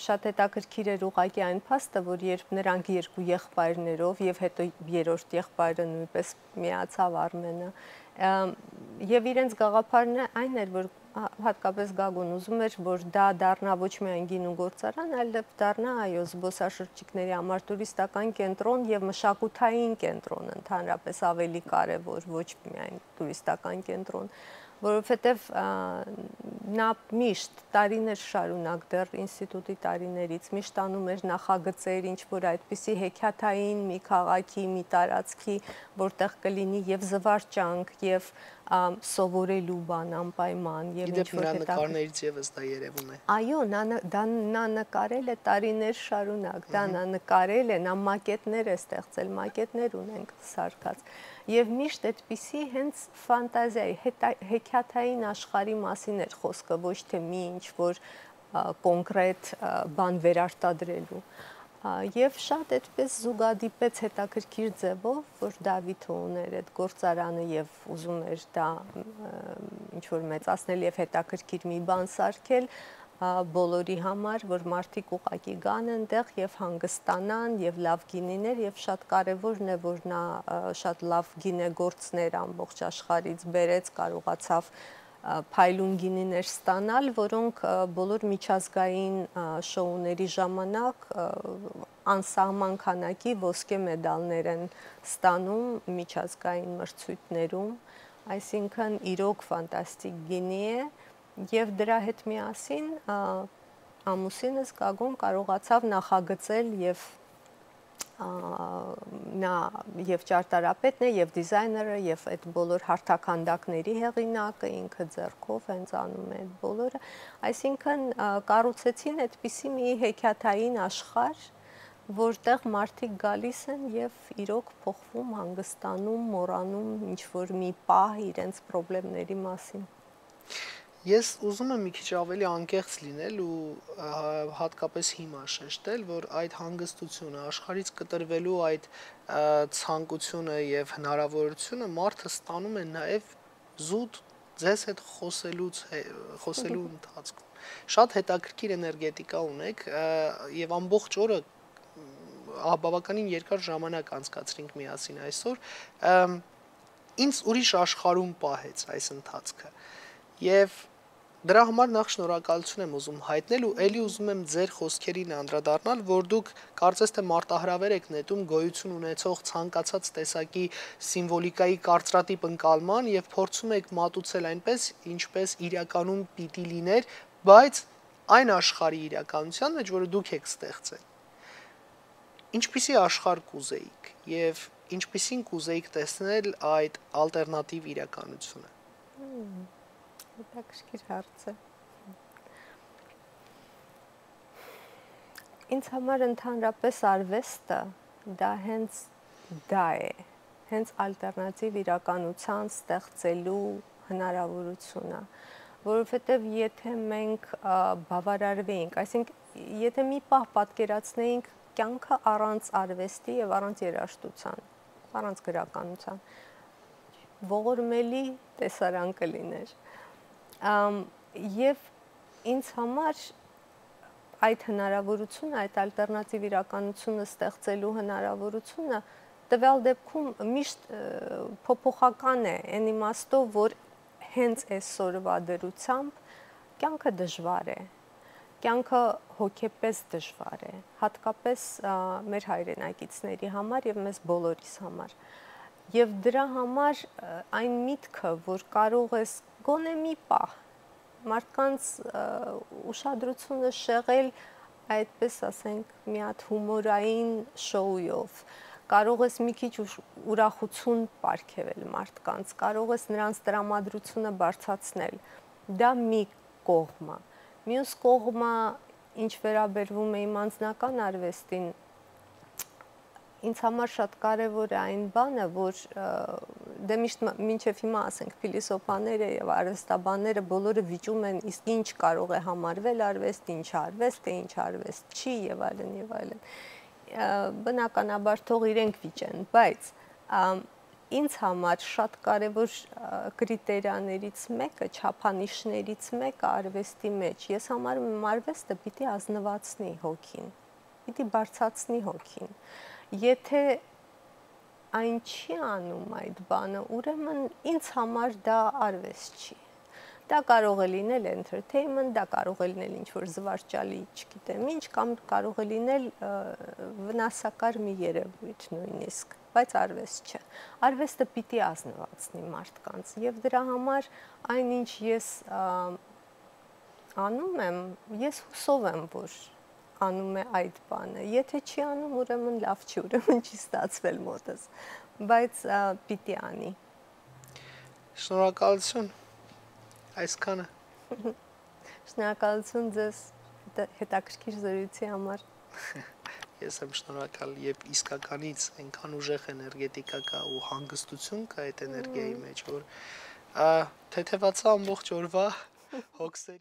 շատ հետաքրքիր էր ուղղակի այն փաստը, որ երբ նրանք երկու եղբայրներով եւ հետո երրորդ եղբայրը նույնպես միացավ Արմենը, եւ իրենց գաղափարն այն էր, որ հատկապես Գագոն ուզում էր, որ դա դառնա ոչ միայն գինու գործարան, այլև դառնա այո զբոսաշրջիկների համար տուրիստական կենտրոն եւ մշակութային կենտրոն ընդհանրապես ավելի կարեւոր, ոչ միայն տուրիստական կենտրոն, որովհետեւ նա միշտ տարիներ շարունակ դեռ ինստիտուտի տարիներից միշտ անում էր նախագծեր, ինչ որ այդպիսի հեքիաթային մի քաղաքի, մի տարածքի, որտեղ կլինի եւ զվարճանք եւ սովորելու բան անպայման եւ ինչ որ նկարներից եւս դա երևում է։ Այո, նա նկարել է տարիներ շարունակ, նա նկարել է, նա մակետներ է ստեղծել, մակետներ ունենք սարքած։ Եվ միշտ այդպիսի հենց ֆանտազիայի, հեքիաթային աշխարհի մասին էր խոսքը, ոչ թե մի ինչ որ կոնկրետ բան վերարտադրելու։ Եվ շատ այդպես զուգադիպեց հետաքրքիր ձևով, որ Դավիթը ուներ այդ գործարանը եւ ուզում էր դա ինչ որ մեծացնել եւ հետաքրքիր մի բան սարքել բոլորի համար, որ մարդիկ ուղակի գան այնտեղ եւ հանգստանան եւ լավ գինիներ եւ շատ կարեւորն է, որ նա շատ լավ գինեգործներ ամբողջ աշխարհից բերեց, կարողացավ փայլուն գինիներ ստանալ, որոնք բոլոր միջազգային շոուների ժամանակ անսահման քանակի ոսկե մեդալներ են ստանում միջազգային մրցույթներում, այսինքն իրոք ֆանտաստիկ գինի է եւ դրա հետ միասին ամուսինս Գագոն կարողացավ նախագծել եւ նա եւ ճարտարապետն է եւ դիզայները եւ այդ բոլոր հարթականդակների հեղինակը ինքը ձեռքով հենց անում է այդ բոլորը, այսինքն կառուցեցին այդպիսի մի հեքիաթային աշխարհ, որտեղ մարդիկ գալիս են եւ իրոք փոխվում, հանգստանում, մոռանում ինչ որ մի պահ իրենց խնդիրների մասին։ Ես ուզում եմ մի քիչ ավելի անկեղծ լինել ու հատկապես հիմա շեշտել, որ այդ հանգստությունը, աշխարհից կտրվելու այդ ցանկությունը եւ հնարավորությունը մարդը ստանում է նաեւ զուտ ձեզ հետ խոսելու ընթացքում։ Շատ հետաքրքիր էներգետիկա ունեք եւ ամբողջ օրը բավականին երկար ժամանակ անցկացրինք միասին այսօր, ինձ ուրիշ աշխարհում պահեց այս ընթացքը եւ դրա համար նախ շնորհակալություն եմ ուզում հայտնել ու ելի ուզում եմ ձեր խոսքերին անդրադառնալ, որ դուք կարծես թե մարտահրավեր եք նետում գոյություն ունեցող ցանկացած տեսակի սիմվոլիկայի կարծրատիպ ընկալման եւ փորձում եք մատուցել այնպես, ինչպես իրականում պիտի լիներ, բայց այն աշխարհի իրականության մեջ, որը դուք եք ստեղծել։ Ինչպիսի աշխարհ կուզեիք եւ ինչպիսին կուզեիք տեսնել այդ ալտերնատիվ իրականությունը։ Հետաքրքիր հարց է։ Ինձ համար ընդհանրապես արվեստը դա հենց դա է, հենց ալտերնատիվ իրականության ստեղծելու հնարավորությունը, որովհետև եթե մենք բավարարվեինք, այսինքն եթե մի պահ պատկերացնեինք կյանքը առանց արվեստի եւ առանց երաժշտության, առանց գրականության, ողորմելի տեսարան կլիներ։ Եվ ինձ համար այդ հնարավորությունը, այդ ալտերնատիվ իրականությունը ստեղծելու հնարավորությունը տվյալ դեպքում միշտ փոփոխական է, այն իմաստով, որ հենց այսօրվա դրությամբ կյանքը դժվար է, կյանքը հոգեպես դժվար է, հատկապես մեր հայրենակիցների համար եւ մեզ բոլորիս համար։ Եվ դրա համար այն միտքը, որ կարող ես գոնե մի պահ մարդկանց ուշադրությունը շեղել այդպես ասենք մի հատ հումորային շոուով, կարող ես մի քիչ ուրախություն պարգևել մարդկանց, կարող ես նրանց տրամադրությունը բարձրացնել, դա մի կողմը։ Մյուս կողմը, ինչ վերաբերվում է իմ անձնական արվեստին, ինձ համար շատ կարևոր է այն բանը, որ դե միշտ մինչև հիմա ասենք փիլիսոփաները եւ արվեստաբանները բոլորը վիճում են իսկ ինչ կարող է համարվել արվեստ, ինչ արվեստ է, ինչ արվեստ չի եւ այլն եւ այլն։ Բնականաբար թող իրենք վիճեն, բայց ինձ համար շատ կարևոր կրիտերիաներից մեկը, չափանիշներից մեկը արվեստի մեջ, ես համարում եմ արվեստը պիտի ազնվացնի հոգին, պիտի բարձրացնի հոգին։ Եթե այն չի անում այդ բանը, ուրեմն ինձ համար դա արվեստ չի։ Դա կարող է լինել entertainment, դա կարող է լինել ինչ-որ զվարճալի, չգիտեմ ինչ, կամ կարող է լինել վնասակար մի երևույթ նույնիսկ, բայց արվեստ չէ։ Արվեստը պիտի ազնվացնի մարդկանց եւ դրա համար այնինչ ես անում եմ, ես հուսով եմ, որ անում է այդ բանը։ Եթե չի անում, ուրեմն լավ չի, ուրեմն չի ստացվել մոտս, բայց պիտի անի։ Շնորհակալություն այսքանը։ Շնորհակալություն ձեզ հետաքրքիր զրույցի համար։ Ես եմ շնորհակալ, երբ իսկականից այնքան ուժեղ էներգետիկա կա ու հանգստություն կա այդ էներգիայի մեջ, որ թեթևացա ամբողջ օրվա հոգսերի